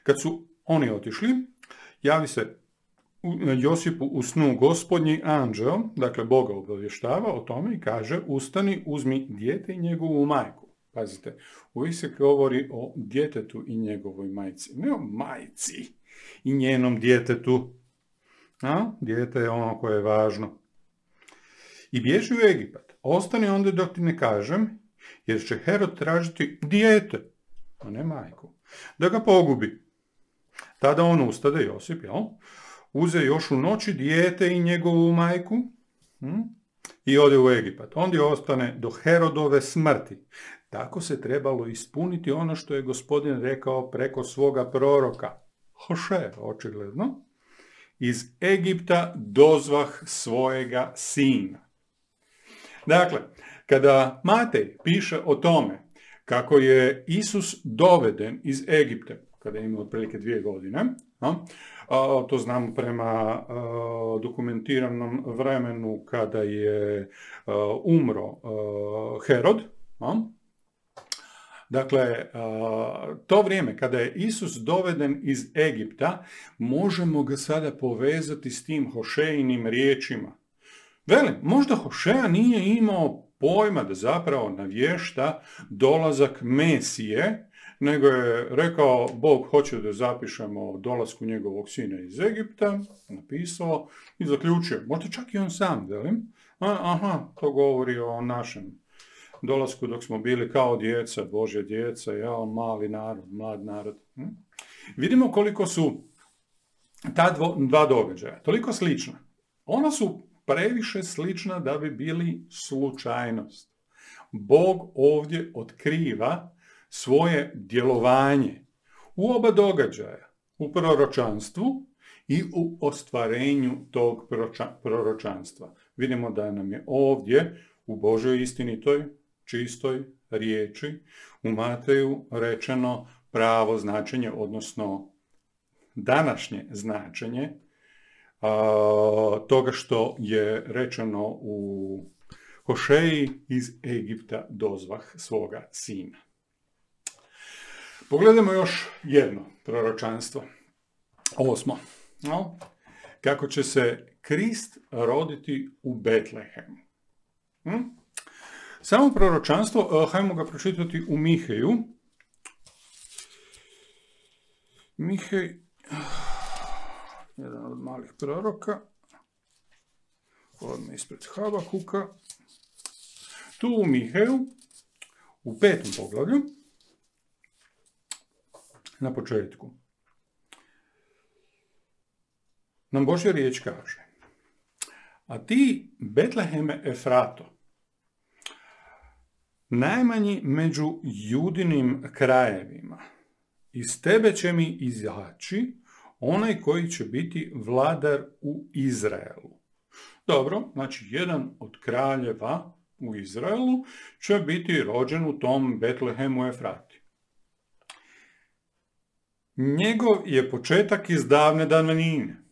[SPEAKER 1] Kad su oni otišli, javi se Josipu u snu gospodnji anđeo, dakle Boga obavještava o tome i kaže, ustani, uzmi dijete i njegovu majku. Pazite, uvijek se govori o djetetu i njegovoj majci, ne o majci i njenom djetetu. A? Dijete je ono koje je važno. I bježi u Egipat. Ostani onda dok ti ne kažem, jer će Herod tražiti dijete, a ne majku, da ga pogubi. Tada on ustade, Josip, jel? Uze još u noći dijete i njegovu majku, hm? i ode u Egipat. Ondje ostane do Herodove smrti. Tako se trebalo ispuniti ono što je Gospodin rekao preko svoga proroka. Hoše, očigledno. Iz Egipta dozvah svojega sina. Dakle, kada Matej piše o tome kako je Isus doveden iz Egipta, kada je imao otprilike dvije godine, no, a, to znamo prema a, dokumentiranom vremenu kada je a, umro a, Herod. No. Dakle, a, to vrijeme kada je Isus doveden iz Egipta, možemo ga sada povezati s tim Hošejinim riječima. Velim, možda Hošeja nije imao pojma da zapravo navješta dolazak Mesije, nego je rekao, Bog hoće da zapišemo o dolasku njegovog sina iz Egipta, napisao i zaključio. Možda čak i on sam, velim. A, aha, to govori o našem dolasku dok smo bili kao djeca, Božja djeca, ja, mali narod, mlad narod. Hm? Vidimo koliko su ta dvo, dva događaja toliko slična. Ona su previše slična da bi bili slučajnost. Bog ovdje otkriva svoje djelovanje u oba događaja, u proročanstvu i u ostvarenju tog proročanstva. Vidimo da nam je ovdje u Božoj istinitoj, čistoj riječi u Mateju rečeno pravo značenje, odnosno današnje značenje a, toga što je rečeno u Hošeji iz Egipta dozvah svoga sina. Pogledajmo još jedno proročanstvo. Osmo. No, kako će se Krist roditi u Betlehemu. Hm? Samo proročanstvo, hajmo ga pročitati u Miheju. Mihej, jedan od malih proroka, odmah ispred Habakuka. Tu u Miheju, u petom poglavlju, na početku, nam Božja riječ kaže: a ti, Betleheme Efrato, najmanji među Judinim krajevima, iz tebe će mi izaći onaj koji će biti vladar u Izraelu. Dobro, znači jedan od kraljeva u Izraelu će biti rođen u tom Betlehemu Efrati. Njegov je početak iz davne davnine,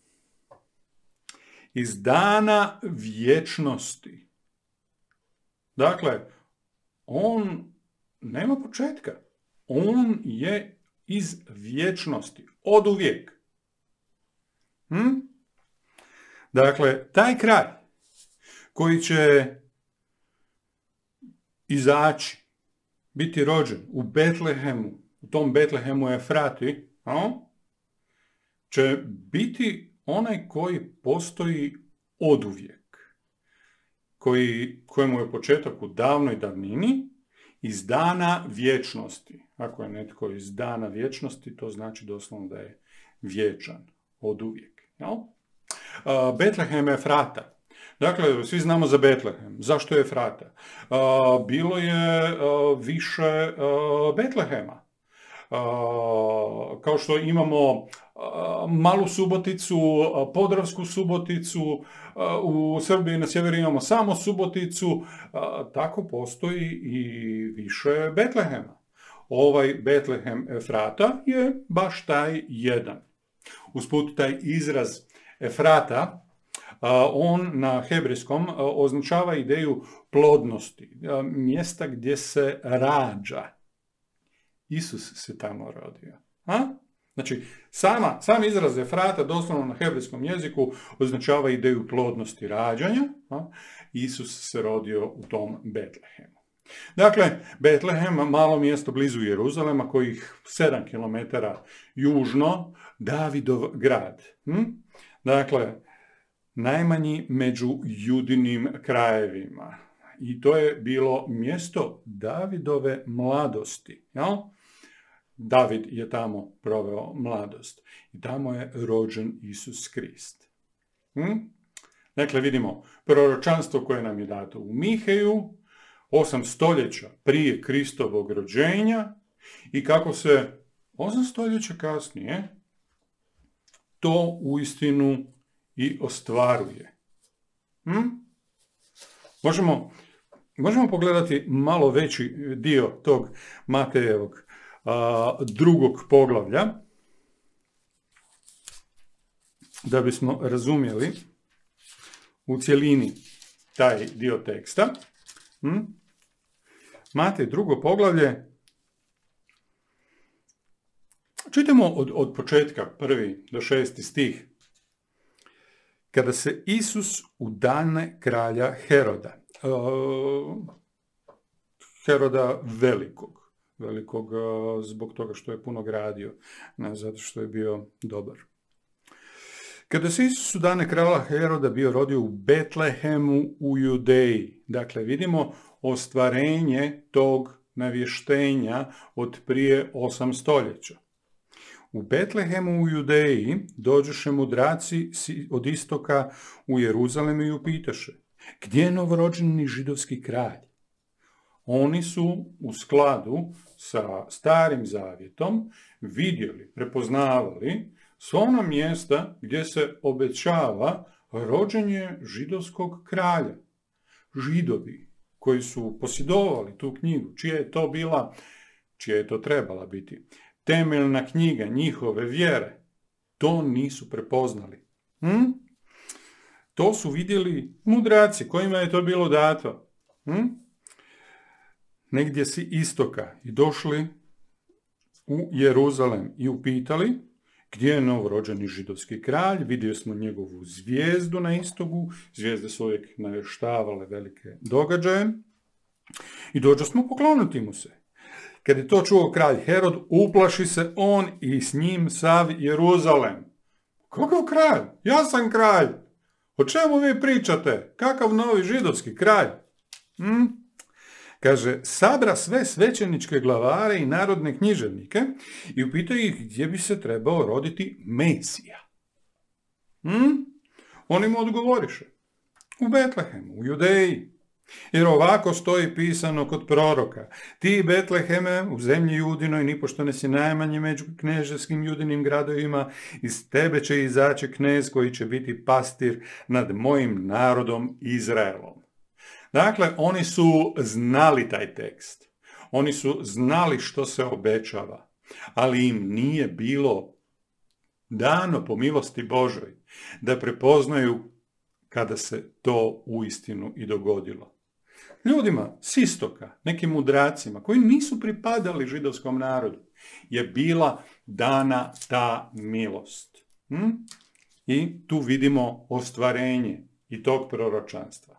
[SPEAKER 1] iz dana vječnosti. Dakle, on nema početka. On je iz vječnosti, od uvijek. Hm? Dakle, taj kraj koji će izaći, biti rođen u Betlehemu, u tom Betlehemu Efrati, no, će biti onaj koji postoji oduvijek, koji, kojemu je početak u davnoj davnini, iz dana vječnosti. Ako je netko iz dana vječnosti, to znači doslovno da je vječan, oduvijek. No? Uh, Betlehem Efrata. Dakle, svi znamo za Betlehem. Zašto je Efrata? Uh, bilo je uh, više uh, Betlehema. Uh, kao što imamo uh, Malu Suboticu, uh, Podravsku Suboticu, uh, u Srbiji na sjeveru imamo samo Suboticu, uh, tako postoji i više Betlehema. Ovaj Betlehem Efrata je baš taj jedan. Usput taj izraz Efrata, uh, on na hebrejskom uh, označava ideju plodnosti, uh, mjesta gdje se rađa. Isus se tamo rodio. A? Znači, sama, sam izraz Efrata, doslovno na hebrejskom jeziku, označava ideju plodnosti rađanja. A? Isus se rodio u tom Betlehemu. Dakle, Betlehem, malo mjesto blizu Jeruzalema, kojih sedam kilometara južno, Davidov grad. Hm? Dakle, najmanji među Judinim krajevima. I to je bilo mjesto Davidove mladosti. Jel? David je tamo proveo mladost. I tamo je rođen Isus Krist. Hm? Dakle, vidimo proročanstvo koje nam je dato u Miheju, osam stoljeća prije Kristovog rođenja i kako se osam stoljeća kasnije to uistinu i ostvaruje. Hm? Možemo, možemo pogledati malo veći dio tog Matejevog a, drugog poglavlja, da bismo razumjeli u cjelini taj dio teksta. Hm? Matej drugo poglavlje. Čitamo od, od početka, prvi do šesti stih. Kada se Isus udane kralja Heroda, uh, Heroda velikog, velikog uh, zbog toga što je puno gradio, ne zato što je bio dobar. Kada se Isus udane kralja Heroda bio rodio u Betlehemu u Judeji, dakle vidimo ostvarenje tog navještenja od prije osam stoljeća. U Betlehemu u Judeji dođoše mudraci od istoka u Jeruzalem i upitaše, gdje je novorođeni židovski kralj? Oni su u skladu sa Starim zavjetom vidjeli, prepoznavali sva ona mjesta gdje se obećava rođenje židovskog kralja. Židovi koji su posjedovali tu knjigu, čija je to bila, čija je to trebala biti, temeljna knjiga njihove vjere, to nisu prepoznali. Hm? To su vidjeli mudraci kojima je to bilo dato. Hm? Negdje si istoka i došli u Jeruzalem i upitali gdje je novorođeni židovski kralj, vidio smo njegovu zvijezdu na istogu, zvijezde su uvijek navještavale velike događaje i dođo smo pokloniti mu se. Kad je to čuo kralj Herod, uplaši se on i s njim sav Jeruzalem. Kakav kralj? Ja sam kralj. O čemu vi pričate? Kakav novi židovski kralj? Hm? Kaže, sabra sve svećeničke glavare i narodne književnike i upita ih gdje bi se trebao roditi Mesija. Hm? Oni mu odgovoriše, u Betlehemu, u Judeji. Jer ovako stoji pisano kod proroka, ti Betleheme u zemlji Judinoj nipošto ne si najmanje među kneževskim Judinim gradovima, iz tebe će izaći knez koji će biti pastir nad mojim narodom Izraelom. Dakle, oni su znali taj tekst. Oni su znali što se obećava, ali im nije bilo dano po milosti Božoj da prepoznaju kada se to uistinu i dogodilo. Ljudima s istoka, nekim mudracima koji nisu pripadali židovskom narodu, je bila dana ta milost. Hm? I tu vidimo ostvarenje i tog proročanstva.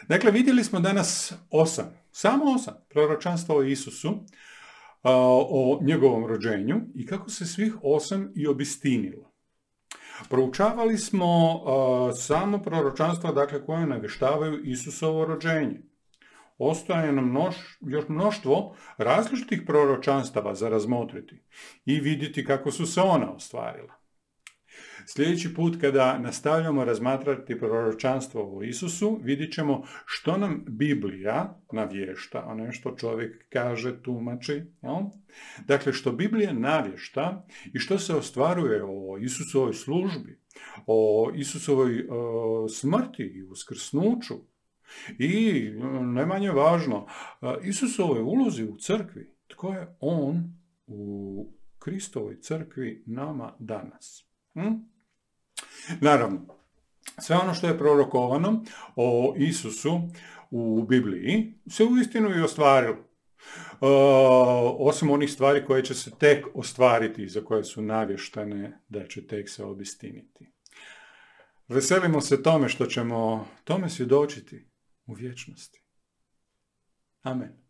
[SPEAKER 1] Dakle, vidjeli smo danas osam, samo osam proročanstva o Isusu, o njegovom rođenju i kako se svih osam i obistinilo. Proučavali smo uh, samo proročanstva, dakle, koje navještavaju Isusovo rođenje. Ostaje nam množ, još mnoštvo različitih proročanstava za razmotriti i vidjeti kako su se ona ostvarila. Sljedeći put kada nastavljamo razmatrati proročanstvo o Isusu, vidjet ćemo što nam Biblija navješta, a ne što čovjek kaže, tumači. Jel? Dakle, što Biblija navješta i što se ostvaruje o Isusovoj službi, o Isusovoj o, smrti i uskrsnuću i, najmanje važno, Isusovoj ulozi u crkvi. Tko je on u Kristovoj crkvi nama danas? Hm? Naravno, sve ono što je prorokovano o Isusu u Bibliji se uistinu i ostvarilo. E, osim onih stvari koje će se tek ostvariti, za koje su navještene da će tek se obistiniti. Veselimo se tome što ćemo tome svjedočiti u vječnosti. Amen.